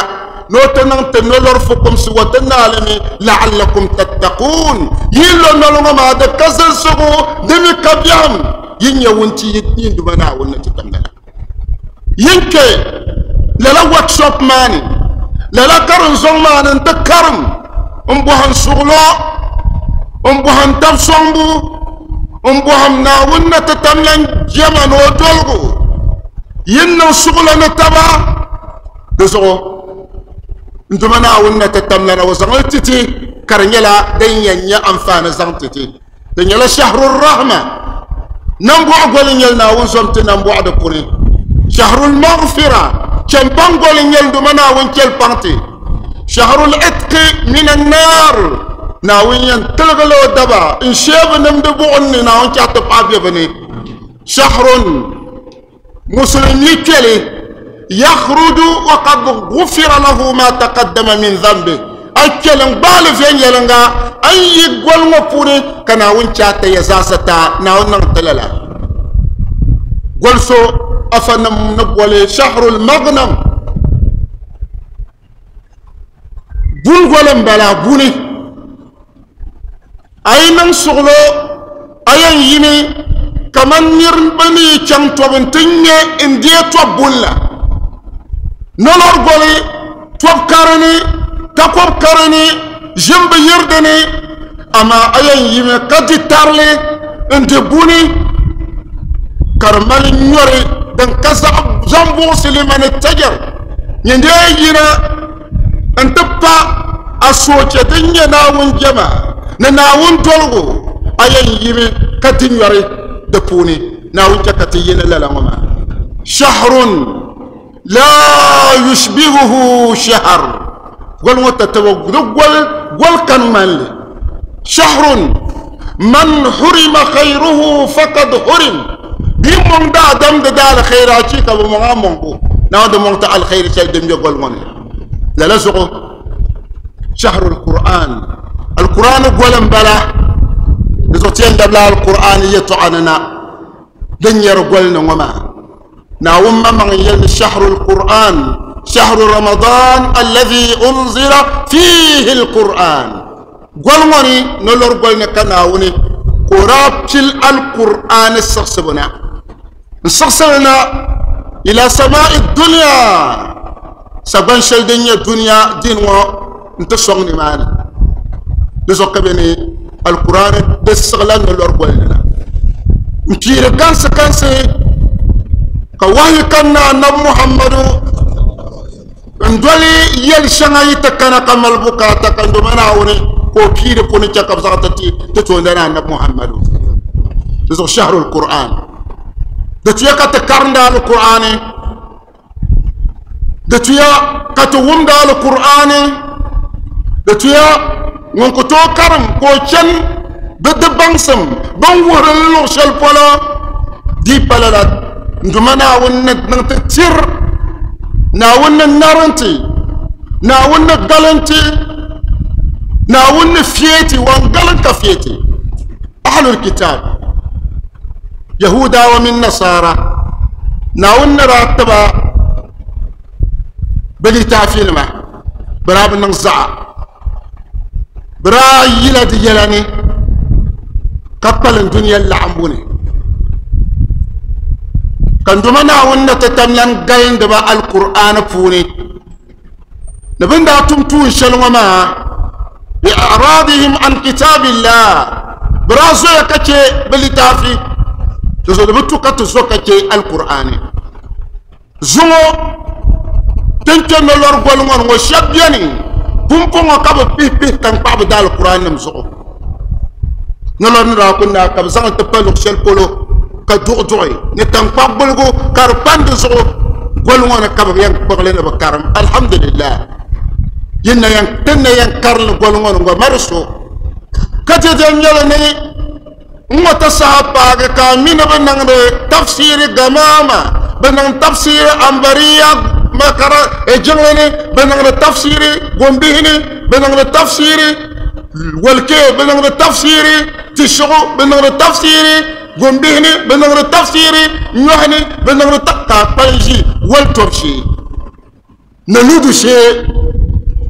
ni o ti niŋ ti nolori fukumsi wa ti naalimi la'allakum tattaqun yi lo noli ŋɔ maa di ka zilisigu di mi ka biɛhim yi nyɛ wunti yi Duuma Naawuni ni ti tamda la yin kpɛ lala workshop maa ni lala karim zɔŋ maa ni n ti karim n bɔhim suɣulo n bɔhim tab sɔŋbu n bɔhim Naawuni ni ti tam lan jɛma ni o doligu yin niŋ suɣulo ni taba di zuɣu n Duuma Naawuni na ti tam lana o zaŋli ti ti ka di nyɛla din yɛn nyɛ anfaani zaŋ ti ti di nyɛla shahrul rahma nambɔɣu goli n nyɛli Naawuni zom ti nambɔɣu di puuni shahrul maghfira chɛmpaŋ goli n nyɛli Duuma Naawuni chɛli paŋ ti shahrul itqi min annar Naawuni yɛn tiligi la o daba n sheebi nimdi buɣim ni Naawuni chɛhi ti paɣa be bi ni shahrun musulmi kpɛli yakhruju wa qad ghufira lahu ma taqaddama min dhanbi a kpɛli n gbaali viɛnyɛlinga a ni yi goli ŋɔ puuni ka naawuni chɛ a taya zaasa ta naawuni niŋ ti lala goli so afanim ni boli shahrul maghnam buni goli n bala buni a yi niŋ suɣulo a yɛn yimi kamani niriba ni yi chaŋ tɔbu nti ŋme n-deei tɔb buni la. Nolori goli tɔb kari ni, takɔb kari ni, ʒim bi yiri di ni, amaa a yɛn yimi ka di tarili n-di buni ka di mali nyɔri din ka zaŋ buɣisi li ma ni tɛjɛr nyin dee yina n-ti pa a sooche din nyɛ Naawuni jɛma ni Naawuni doligu, a yɛn yimi ka di nyɔri di puuni. Naawuni chɛ ka ti yi ni lala ŋɔ maa. Shahrun laa yushbihuhu shahr, goli ŋɔ tatabo di goli, goli kani ŋmani li. Shahrun man hurima khayruhu fakad hurim, bɛ yi mɔŋ daadam di daalkhayri achiika bɛ mɔŋ a mɔŋbu, Naawuni di mɔŋ ti alkhayri shɛli din be goli ŋɔ ni. Lala zuɣu shahrul Qur'an, Alkur'an goli n-bala, di zuɣu ti yɛn labila Alkur'an yɛtɔɣa ni na din nyɛri goli ni ŋɔ maa. Naawuni maŋmaŋ n-yɛli ni shahrul Qur'an, shahru Ramadan alladhi unzila fihi al-Qur'an. Goli ŋɔ ni nolori goli ni ka Naawuni ka o daa pili Alkur'an siɣisibu na. N siɣisili na ila sama'i dunya sagban shɛli din nyɛ dunia din ŋɔ n ti sɔŋ nimaani. Di zuɣu ka bɛ ni Alkur'an di siɣila nolori goli ni na n piiri kansi kansi ka wahi kanna anabi Muhammadu n doli yɛli shɛŋa yi ti kana ka mali bukaata ka ndoma Naawuni ka o piiri puni chɛ ka bi zaŋ ti ti toondana anabi Muhammadu. Di zuɣu shahrul Qur'an di tuya ka ti karinda Alkur'ani. Di tuya ka ti wumdi Alkur'aani, di tuya ŋun ku tooi karim ka o chani bi di baŋsim bin wuhiri li luɣ shɛli polo di pa lala. N Duuma Naawuni ni niŋ ti tiri, Naawuni ni narinti, Naawuni ni galinti, Naawuni ni feeti, wan galin ka feeti. Ahlul kitab, Yahudawa mini Nasara, Naawuni ni daa tiba bi litaafinima, bɛ daa bi niŋ zaɣa, bɛ daa yila di yɛla ni ka kpalim dunia laɣimbu ni. Ka n Duuma Naawuni ni ti tam lan galindi ba Alkur'aani puuni ni bɛ ni daa tum tuun shɛli ŋɔ maa, bi i'radihim an kitabillah, bɛ daa zoya ka chɛ bɛ litaafi, di zuɣu di bi tu ka ti zo ka chɛ Alkur'aani. Zuŋɔ tin kpe nolɔri goli ŋɔ ni ŋɔ shɛba beni pumpɔŋɔ ka bɛ pihi pihi taŋkpaɣu bɛ daalkur'aannim zuɣu. Nolɔri ni daa ku naai ka bɛ zaŋ li ti pa luɣ shɛli polo ka duɣiduɣi ni taŋkpaɣu guligu ka di pani di zuɣu. Goli ŋɔ ni ka bɛ yɛn kpuɣi li ni bɛ karim. Alhamdulillah, yin na yɛn, tin na yɛn karim li goli ŋɔ ni ŋɔ mari so ka dɛdɛ nyɛli ni N ŋɔ ti saha paagi ka a mi ni bɛ niŋdi tafsiiri gamaama, bɛ niŋ tafsiiri ambariya makara jiŋli ni, bɛ niŋdi tafsiiri gombihi ni, bɛ niŋdi tafsiiri walikee, bɛ niŋdi tafsiiri tishigu, bɛ niŋdi tafsiiri gombihi ni, bɛ niŋdi tafsiiri nyɔhi ni, bɛ niŋdi ka a kpali ʒi wali tɔbu shee ni ludu shee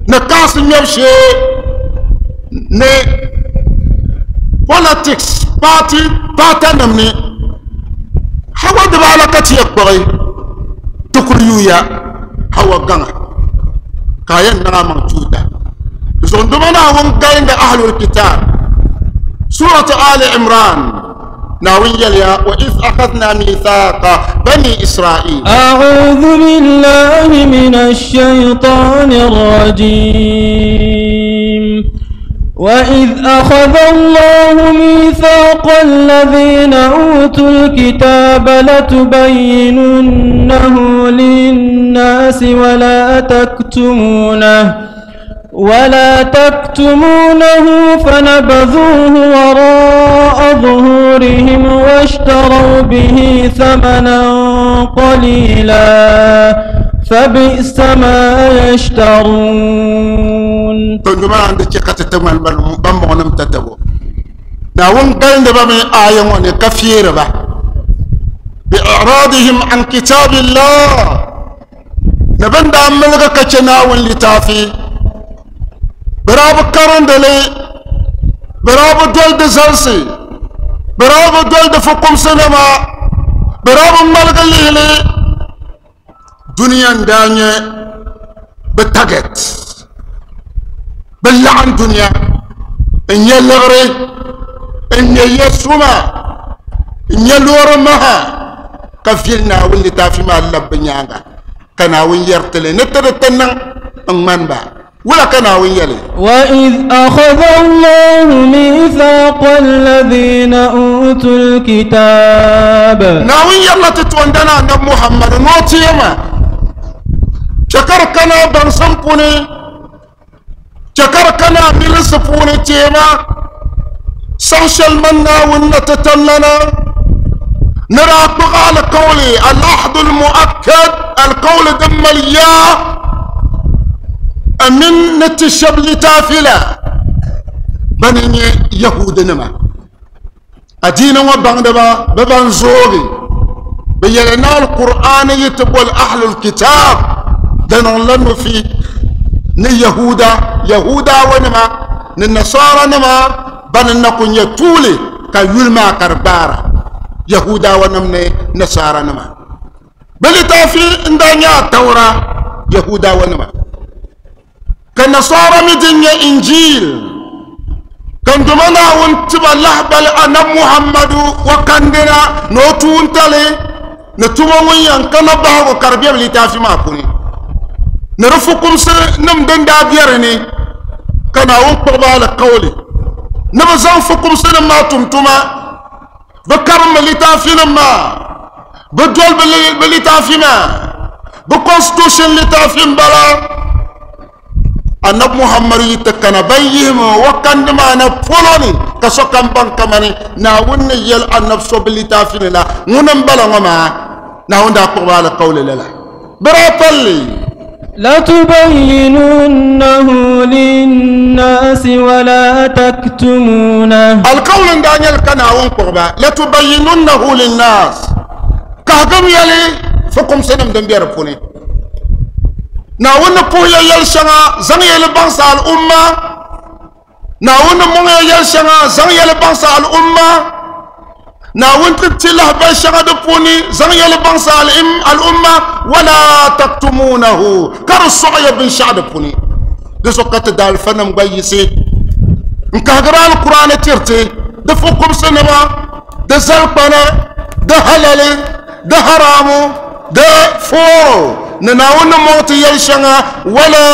ni kaasi ŋmɛbu shee ni politics party paata nim ni hawa dibaala ka ti yɛ kpuɣi ti kuli yuuya hawa gaŋa ka a yɛn niŋ a maŋ tuuta zuɣunduma Naawuni galindi ahlul kitaab suratu ali imran. Naawuni yɛliya wa iz akhadna mithaqa bani israil. أعوذ بالله من الشيطان الرجيم وإذ أخذ الله ميثاق الذين أوتوا الكتاب لتبيننه للناس ولا تكتمونه فنبذوه وراء ظهورهم واشتروا به ثمنا قليلا فبئس ما يشترون. Tonduma an di chɛ ka ti ti ŋmani bambɔŋɔnim tatabo. Naawuni galindi ba mi aaya ŋɔ ni ka feeri ba bi i'radihim an kitabillah, ni bɛ ni daa miligi ka chɛ Naawuni litaafi, bɛ daa bi karindi li, bɛ daa bi doli di zalisi, bɛ daa bi doli di fukumsinima, bɛ daa bi ŋmaligi lihi li. Dunia n-daa nyɛ bɛ target, bɛ laɣim dunia n-nyɛ liɣiri, n-nyɛ ya suma, n-nyɛ loori maha, ka vili Naawuni litaafi maa labi bɛ nyaaŋa, ka Naawuni yɛri ti li ni ti di ti niŋ n-ŋmani ba. Wula ka Naawuni yɛli? وإذ أخذ الله ميثاق الذين أوتوا الكتاب. Naawuni yɛrila ti toondana Anabi Muhammad ni o ti ma chɛ ka di kana a baŋsim puuni, chɛ ka di kana a milinsi puuni teema saŋ shɛli man Naawuni na ti tamlana ni daa kpuɣi alikauli al-ahdu al-mu'akkad, alikauli din mali yaa amin ni ti shɛb litaafi la bani n-nyɛ Yahudinima. Adiini ŋɔ baŋdiba bɛ ban zoogi bɛ yɛli ni Alkur'aani yi ti boli ahlul kitaab di niŋla nufi ni Yahuda, Yahudawanima ni Nasaranima bani n-na ku nyɛ tuuli ka yuli maa ka di gbaara Yahudawanim ni Nasaranima. Bɛ litaafi n-daa nyɛ Atawura, Yahudawanima, ka Nasara mi din nyɛ Injil, ka n Duuma Naawuni ti ba lahibali Anabi Muhammadu wa kandina ni o tuuntali ni tuma ŋun yɛn kana bahigu ka di be bɛ litaafi maa puuni ni di fukumsi nim din daa be di ni, ka Naawuni kpuɣi ba alikauli ni bɛ zaŋ fukumsi nim maa tum tuma, bɛ karimmi litaafi nim maa, bɛ doli bɛ litaafi maa. Bi constitution litaafi n bala. Annabi Muhammad yi ti kana ban yihimi o kandi maa na polo ni ka sokam baŋ kamani Naawuni ni yɛli annabi so bi litaafi ni la ŋuni n bala ŋɔ maa. Naawuni daa kpuɣi ba alikauli lala. Bɛ daa palli. لتبيننه للناس ولا تكتمونه. Alikauli n daa nyɛli ka Naawuni kpuɣi ba latubayinunnahu linnas. Kahigim yɛli fukumsinim din be di puuni. Naawuni ni puhi ya yɛli shɛŋa zaŋ yɛli baŋsi al'umma. Naawuni ni mɔŋ ya yɛli shɛŋa zaŋ yɛli baŋsi al'umma. Naawuni ti ti lahabali shɛŋa di puuni zaŋ yɛli baŋsi al'umma. Wala taktumunahu ka di sɔɣi ya binshɛɣu di puuni. Di zuɣu ka ti daalifanim gba yiɣisi n kahigiri alkur'ani tiriti di fukumsinima, di zalikpana, di halali, di haramu, di fooro ni Naawuni ni mɔŋ ti yɛli shɛŋa. Wala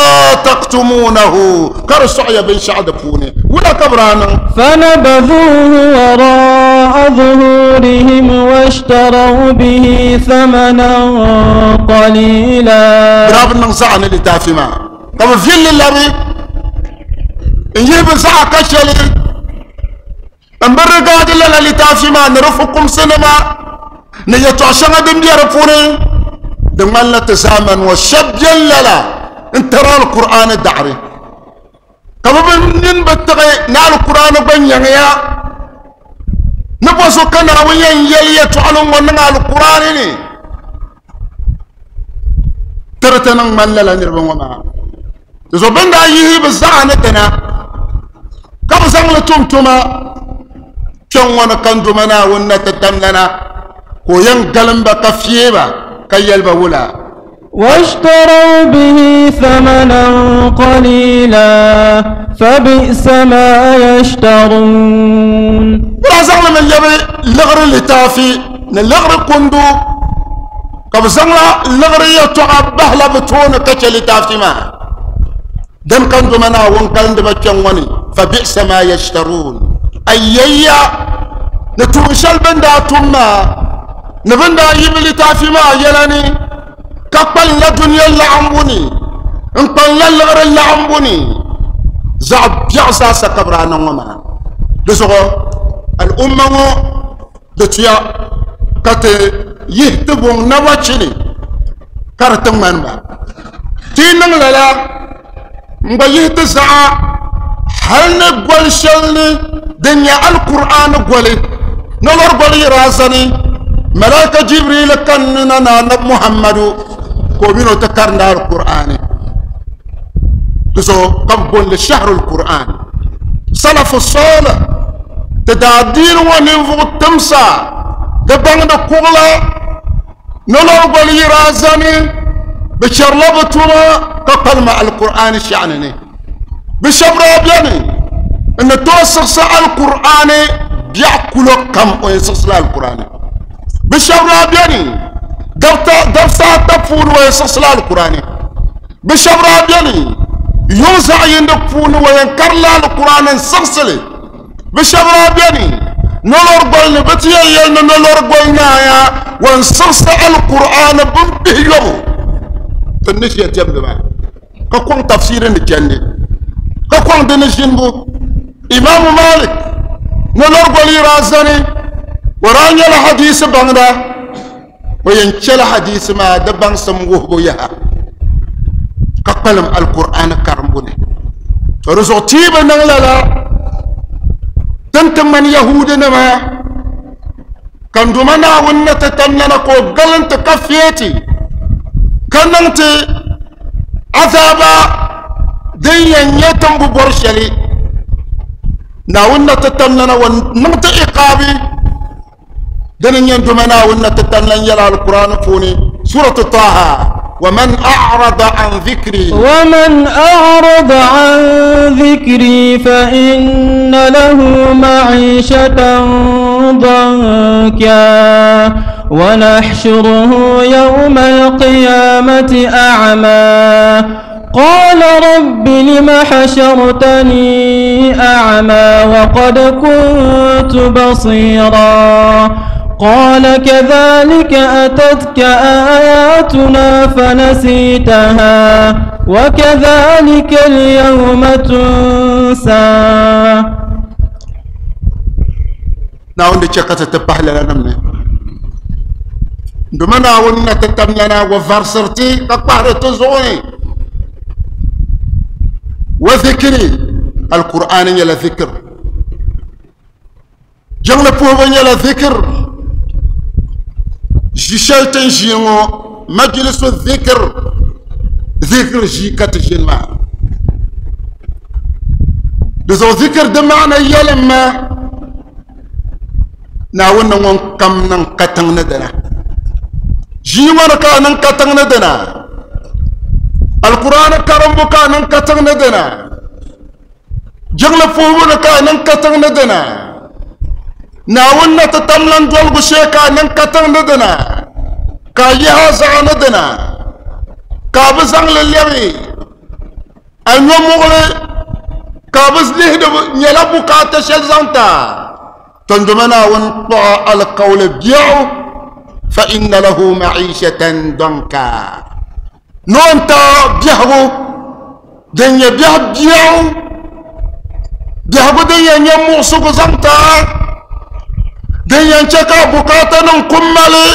taktumunahu ka di sɔɣi ya binshɛɣu di puuni. Wula ka bɛ daa niŋ? فنبذوه وراء ظهورهم واشتروا به ثمنا قليلا. Bɛ daa bi niŋ zaɣa ni litaafi maa ka bɛ villi labi n yihi bɛ zaɣa ka shɛli n bi rigaadi lala litaafi maa ni di fukumsinima ni yɛtɔɣ shɛŋa din be di puuni. Di ŋmanila ti zaamani ŋɔ shɛba beni lala n tari alkur'ani daɣiri ka bɛ bi nini bi tiɣi ni alkur'ani gba nyaŋya ni bɔ so ka Naawuni yɛn yɛli yɛtɔɣili ŋɔ niŋ alkur'ani ni tiri ti niŋ ŋmani lala niriba ŋɔ maa. Di zuɣu bɛ ni daa yihi bɛ zaɣa ni dina ka bɛ zaŋ li tum tuma kpɛŋ ŋɔ ni ka n duma Naawuni na ti tamlana ka o yɛn galim ba ka feei ba ka yɛli ba wula. واشتروا به ثمنا قليلا فبئس ما يشترون. Bɛ daa zaŋ li mi lɛbi liɣiri litaafi ni liɣiri kundu ka bɛ zaŋla liɣiri yɛtɔɣa bahila bɛ tooni ka chɛ litaafi maa. Din ka n duma Naawuni kalindi ba kpɛŋ ŋɔ ni fabi'sa ma yashtaruun. Ayyayya ni tuun shɛli bɛ ni daa tum maa ni bɛ ni daa yi bɛ litaafi maa yɛla ni ka kpalinla dunia laɣimbu ni n kpalinla liɣiri laɣimbu ni zaɣ biɛɣu zaasa ka bɛ daa niŋ ŋɔ maa. Di zuɣu al'umma ŋɔ di tuya ka ti yihi ti buŋ naba chini ka di ti ŋmani ba. Ti yi niŋ lala n gba yihi ti zaɣa hali ni goli shɛli ni din nyɛ alkur'ani goli nolori goli yi daa zani malaika Jibril kanni na na anabi Muhammadu ka o mini o ti karindi alkur'ani. Di zuɣu ka bi booni shahrul Qur'an. Salafu salih ti daa diini ŋɔ ninvuɣu timsa di baŋdi kuɣula nolori goli yi daa zani bɛ chɛrila bɛ tuma ka kpalima alkur'ani shɛɣuni ni. Bɛ shɛba daa beni n ni tooi siɣisi alkur'ani biɛɣu kulo kam o yɛn siɣisila alkur'ani. Bɛ shɛba daa beni dabisa ata puuni o yɛn siɣisila alkur'ani. Bɛ shɛba daa beni yuŋ zaɣ yindi puuni o yɛn karila alkur'ani n siɣisili. Bɛ shɛba daa beni nolori goli ni bɛ ti yɛn yɛli ni nolori goli naaya wan siɣisi alkur'ani bin bihi yobu. Ti ni ʒiya diɛmdi maa ka kɔŋ tafsiri ni chandi ka kɔŋ di ni ʒinibu. Imaamu Malik nolori goli yi daa zani o daa nyɛla hadisi baŋda o yɛn chɛla hadisi maa di baŋsim wuhibu yaha ka kpalim alkur'ani karimbu ni. To di zuɣu ti yi bi niŋ lala din ti ŋmani Yahudinima ka n duma Naawuni ni ti tamlana ka o galinti ka feeti ka niŋ ti azaaba din yɛn nyɛ tin bi bɔri shɛli. Naawuni na ti tamlana wa niŋ ti iqaabi dini n nyɛ n duma Naawuni na ti tamlan yɛla alkur'ani puuni suratu Taha. ومن أعرض عن ذكري ومن أعرض عن ذكري فإن له معيشة ضنكا ونحشره يوم القيامة أعمى قال رب لم حشرتني أعمى وقد كنت بصيرا. قال كذلك أتتك آياتنا فنسيتها وكذلك اليوم تنسى. Naawuni di chɛ ka ti ti pahi lala nim ni duma Naawuni na ti tam lana wa varisiri ti ka kpahiri ti zuɣu ni wa zikiri alkur'ani nyɛla zikir jiŋli puhibu nyɛla zikir ʒi shɛli ti ni ʒiya ŋɔ majilisu zikir zikir ʒii ka ti ʒini maa di zuɣu zikir di maana yɛlimma Naawuni ni ŋun kam niŋ katiŋ ni dina ʒii ŋɔ ni ka a niŋ katiŋ ni dina alkur'ani karimbu ka a niŋ katiŋ ni dina jiŋli puhibu ni ka a niŋ katiŋ ni dina Naawuni na ti tam lan doligu shee ka a niŋ katiŋ ni dina ka a yihi a zaɣa ni dina ka a bi zaŋ li lɛbi a nyo muɣili ka a bi lihidi nyɛla bukaata shɛli zaŋ ta tondoma Naawuni kpuɣi alikauli biɛɣu fa inna lahu ma'ishatan danka ni o ni ta biɛhigu din nyɛ biɛhi biɛɣu biɛhigu din yɛn nyɛ muɣusigu zaŋ ta din yɛn chɛ ka bukaata nim ku mali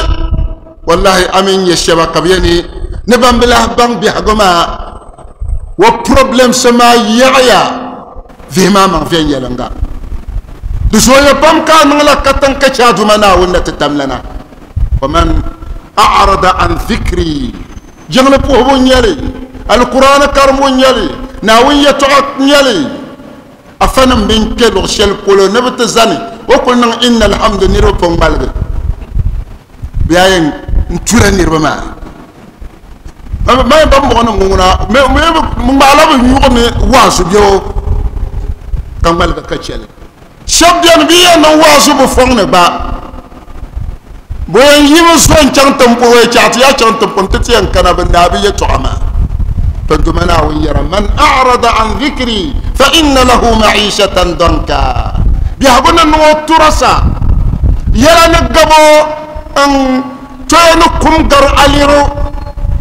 wallahi a mini nyɛ shɛba ka bi yɛn ni ban bi lahi baŋ biɛhigu maa wa problems maa yaɣaya vihi maa maŋ viɛnyɛlinga di zooya pam ka a niŋla katiŋ ka chɛ a Duuma Naawuni na ti tamlana waman a'rada an dhikri jiŋli puhibu n nyɛli alkur'ani karimbu n nyɛli Naawuni yɛtɔɣa n nyɛli afanim bin kpɛ luɣu shɛli polo ni bi ti zani o kuli niŋ inna alhamdu niriba pun ŋmaligi bɛ yaa yɛn n tula niriba maa ma ban bɔŋɔ nim ŋuna ŋmaala bi nyuɣu ni waazu bɛ o ka ŋmaligi ka chɛli shɛba bɛni bi yɛn niŋ waazu bi fɔŋ ni gba bi yɛn yi bi zo n chaŋ tiŋpuhi wei chaɣ ti yaa chaŋ tiŋpuhi ti ti yɛn kana bi naai bi yɛtɔɣa maa tondoma Naawuni yɛra man a'rada an dhikri fa inna lahu ma'ishatan danka biɛhigu ni niŋ o turasa yɛla ni gabo n toya ni kum gari aliro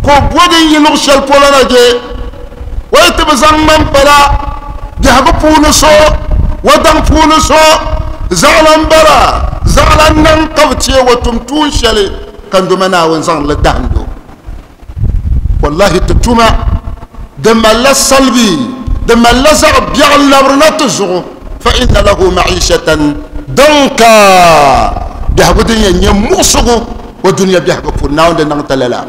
ka o bo din yi luɣ shɛli polo na je o yi ti bi zaŋ ŋmani pala biɛhigu puuni so o daŋ puuni so zaɣila n bala zaɣila n niŋ ka bi teei o tum tuun shɛli ka n doma Naawuni zaŋ li dahindi o wallahi ti tuma di malila salbi di malila zaɣ biɛɣu n labirina ti zuɣu fa inna lahu ma'ishatan danka biɛhigu din yɛn nyɛ muɣusigu o dunia biɛhigu puuni Naawuni di niŋ ti lala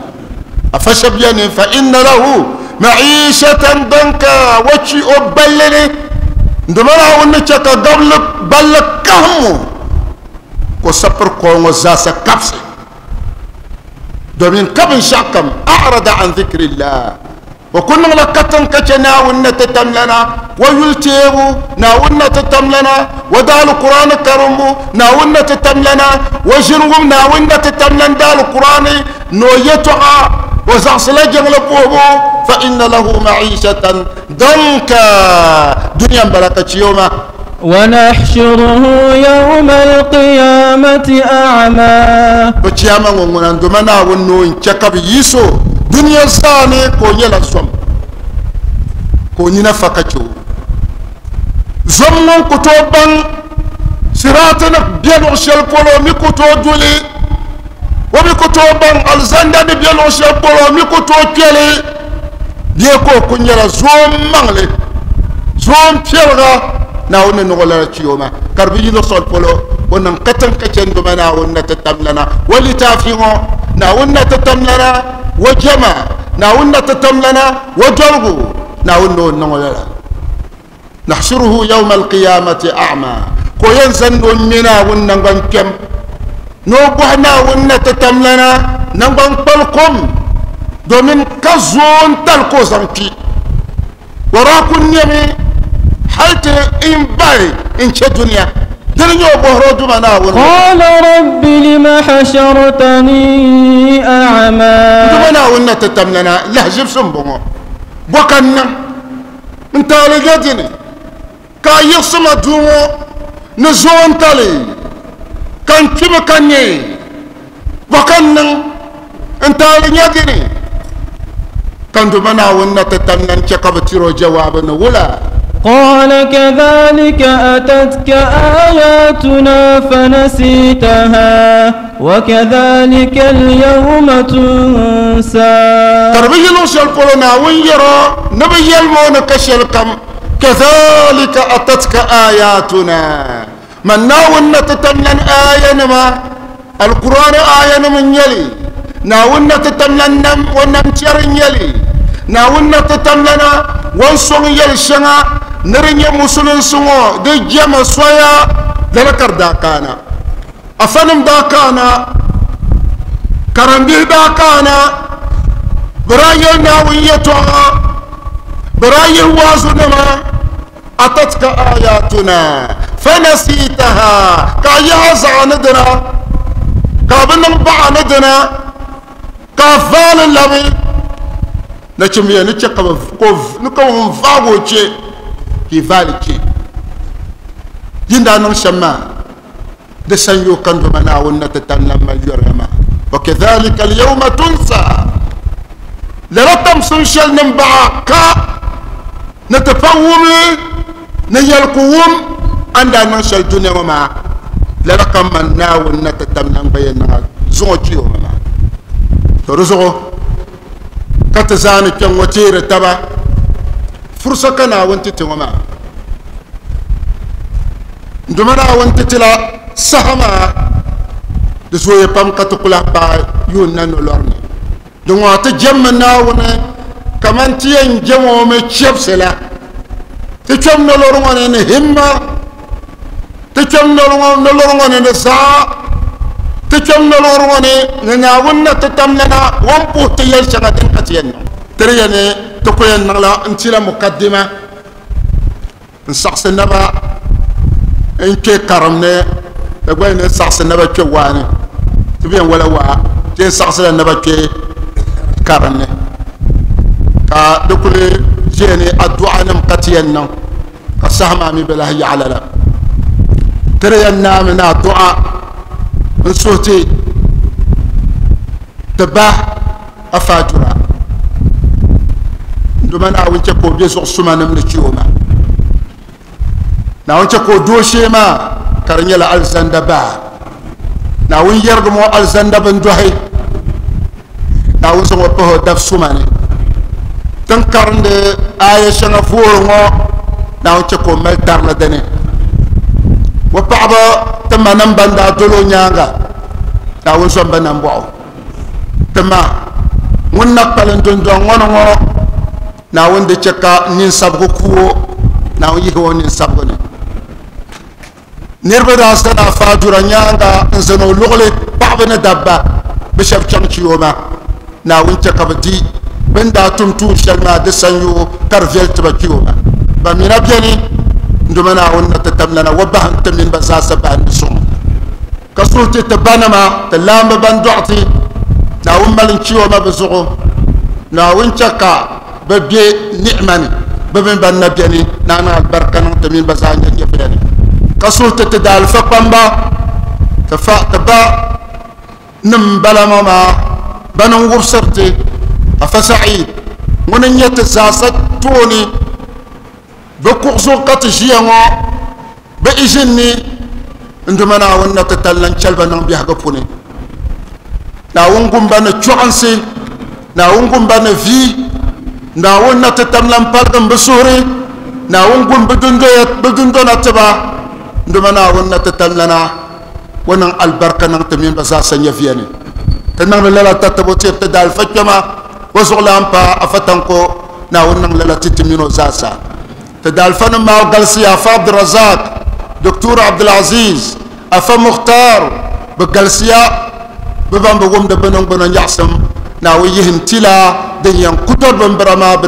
afa shɛba bɛni fa inna lahu ma'ishatan danka wa chi o balli ni n doma Naawuni ni chɛ ka gabli balli kahimmu ka o sapiri kɔɔ ŋɔ zaasa kabisi domin ka binshɛɣu kam a'rada an dhikrillah o ku niŋla katiŋ ka chɛ Naawuni na ti tamlana wa yuli teebu Naawuni na ti tamlana wa daali Qur'ani karimbu Naawuni na ti tamlana wa ʒini wum Naawuni na ti tamlan daali Qur'ani ni o yɛtɔɣa o zaɣisila jiŋli puhibu fa inna lahu ma'ishatan danka duniya n bala ka chɛ o maa. ونحشره يوم القيامة أعمى. To chiyama ŋɔ ŋuna n doma Naawuni ni o n chɛ ka bɛ yiɣis o dunia zaa ni ka o nyɛla zom ka o nina fa ka chɛ o zom ŋun ku tooi baŋ siraati ni bɛ luɣ shɛli polo o mi ku tooi duli o mi ku tooi baŋ alizanda ni bɛ luɣ shɛli polo o mi ku tooi kpɛli bee ka o ku nyɛla zoom maŋli zoom piɛliga Naawuni ni niŋ o lala chi o maa ka di bi yi luɣ shɛli polo o niŋ katiŋ ka chɛ n-doma Naawuni na ti tamlana o litaafi ŋɔ Naawuni na ti tamlana o jɛma Naawuni na ti tamlana o doligu Naawuni ni o niŋ o lala nahshuruhu yawma alqiyamati a'ma ka o yɛn zani ni o ŋme Naawuni naŋgban kpɛm ni o bɔhi Naawuni na ti tamlana naŋgban kpali kom domin ka zoon tali ka o zaŋ kpi o daa ku nɛmi hali ti n bahi n chɛ dunia dini nyɛ o bɔhiri o Duuma Naawuni ŋɔ. قال رب لم حشرتني أعمى. Duuma Naawuni na ti tamlana lahiʒibisi m-bɔŋɔ bɔ ka n niŋ n taali ge dini ka a yiɣisi ma duu ŋɔ ni zoon tali Ka n kpimi ka neei bɔ ka n niŋ n taali nya dini? Ka n Duuma Naawuni na ti tam lan chɛ ka bɛ tir o jawaabu ni wula? قال كذلك أتتك آياتنا فنسيتها وكذلك اليوم تنسى. Ka di bi yi luɣ shɛli polo Naawuni yɛr o ni bɛ yɛlim o ni ka shɛlikam, كذلك أتتك آياتنا man Naawuni na ti tam lan aayanima, Alkur'aani aayanim n-nyɛ li, Naawuni na ti tam lan nam o namtɛri n-nyɛ li, Naawuni na ti tam lana o ni sɔŋ yɛl shɛŋa ni di nyɛ musulinsi ŋɔ di jɛma soya. Lala ka di daa kaana, afanim daa kaana, karimbihi daa kaana, bɛ daa yɛli Naawuni yɛtɔɣa, bɛ daa yihi waazunima. Atatka ayatuna fanasitaha, ka a yaha zaɣa ni dina, ka a bi niŋ baɣa ni dina, ka a vaali labi nachimbiya ni chɛ ka bɛ ni ka ŋun vaagi o chɛ ka i vaali chɛ yin daa niŋ shɛm maa di sanyoo ka Duuma Naawuni na ti tam lan mali yɔriya maa. Wa kadhalika al-yawma tunsa, lala tamsim shɛli nim baɣa ka ni ti pa wumli ni yɛli ku wum a ni daa niŋ shɛli dunia ŋɔ maa, lala ka man Naawuni na ti tam lan gba yɛn niŋ a zuŋɔ kpiyo ŋɔ maa. To di zuɣu ka ti zaani kpɛŋ ŋɔ teeri taba fursa ka Naawuni ti ti ŋɔ maa. N Duuma Naawuni ti ti la saha maa, di zooya pam ka ti ku lahi paai yuun na nolɔri ni. Di ŋɔ ti jɛmmi Naawuni kaman ti yɛn jɛm o mi chɛbisi la. Ti kpɛm nolɔri ŋɔ ni ni himma, ti kpɛm nolɔri ŋɔ ni ni zaɣa, ti kpɛm nolɔri ŋɔ ni ni Naawuni na ti tam lana o ni puhi ti yɛli shɛŋa din ka ti yɛn niŋ. Ti di yɛn ni ti ku yɛn niŋla n-tila mukaddima n saɣisi naba n kpe karim ni, di gba ni saɣisi naba kpe waa ni, ti bi yɛn wala waa, ti yɛn saɣisila naba kpe karim ni, ka di kuli ʒiya ni adu'a nim ka ti yɛn niŋ, ka saha maa mi bi lahi yaɣa lala. Ti di yɛn naami ni adu'a n suhi ti ti ba afaajura Duuma Naawuni chɛ ka o be zuɣu suma nim ni chɛ o ma. Naawuni chɛ ka o dooshee maa ka di nyɛla alizanda baa. Naawuni yɛrigim o alizanda bindohi. Naawuni zaŋ o pahi o dab suma ni. Tin karindi aaya shɛŋa voori ŋɔ, Naawuni chɛ ka o mali tarili dini. O paɣaba ti manim ban daa doli o nyaaŋa, Naawuni zom ba nambɔɣu. Ti ma ŋun na kpalim dundɔŋ ŋɔ ni ŋɔ, Naawuni di chɛ ka ninsabgu ku o, Naawuni yihi o ninsabgu ni. Niriba daa zani Afaadura nyaaŋa n-zani o luɣili, paɣaba ni dabba, bɛ shɛba chaŋ chi o ma. Naawuni chɛ ka bɛ di bɛ ni daa tum tuun shɛli maa di sanyoo ka di viɛli ti ba kpi o ma. Ba mina beni, n Duuma Naawuni na ti tamlana wa bahi n-ti mini ba zaasa bahindi suŋ. Ka suhi ti ti banima, ti laamba ban dɔɣi ti, Naawuni mali n-chi o ma bɛ zuɣu. Naawuni chɛ ka bɛ be ni'ima ni, bɛ mini ban na beni, Naa niŋ alibarika niŋ ti mini ba zaa nyɛ nyɛviya ni. Ka suhi ti ti daalifa kpamba, ti fa ti ba nim m-bala ŋɔ maa, bani n-wubisiri ti, Afa Sa'id, ŋuni n-nyɛ ti zaasa tooni, bɛ kuɣu zuɣu ka ti ʒiya ŋɔ, Bɛ izini ni n Duuma Naawuni na ti tali lan chɛli ba niŋ biɛhigu puuni. Naawuni gum ba ni chɔɣinsi, Naawuni gum ba ni vi, Naawuni na ti tam lan paligim bɛ suhuri, Naawuni gum bɛ dundona ti ba, n Duuma Naawuni na ti tam lana o niŋ alibarika niŋ ti mini ba zaasa nyɛviya ni. Ti niŋdi lala tatabo tiri ti daalifa kpɛma, o zuɣulan pa Afa Tanko, Naawuni niŋ lala ti ti mini o zaasa. Ti daalifanim maa galisiya, Afa Abdurazak, Doctor Abdulaziz, Afa Mukhtar, bɛ galisiya, bɛ ban bi wumdi bɛ niŋgbuna nyaɣisim, Naawuni yihi n-ti la din yɛn ku dɔri bimbira maa.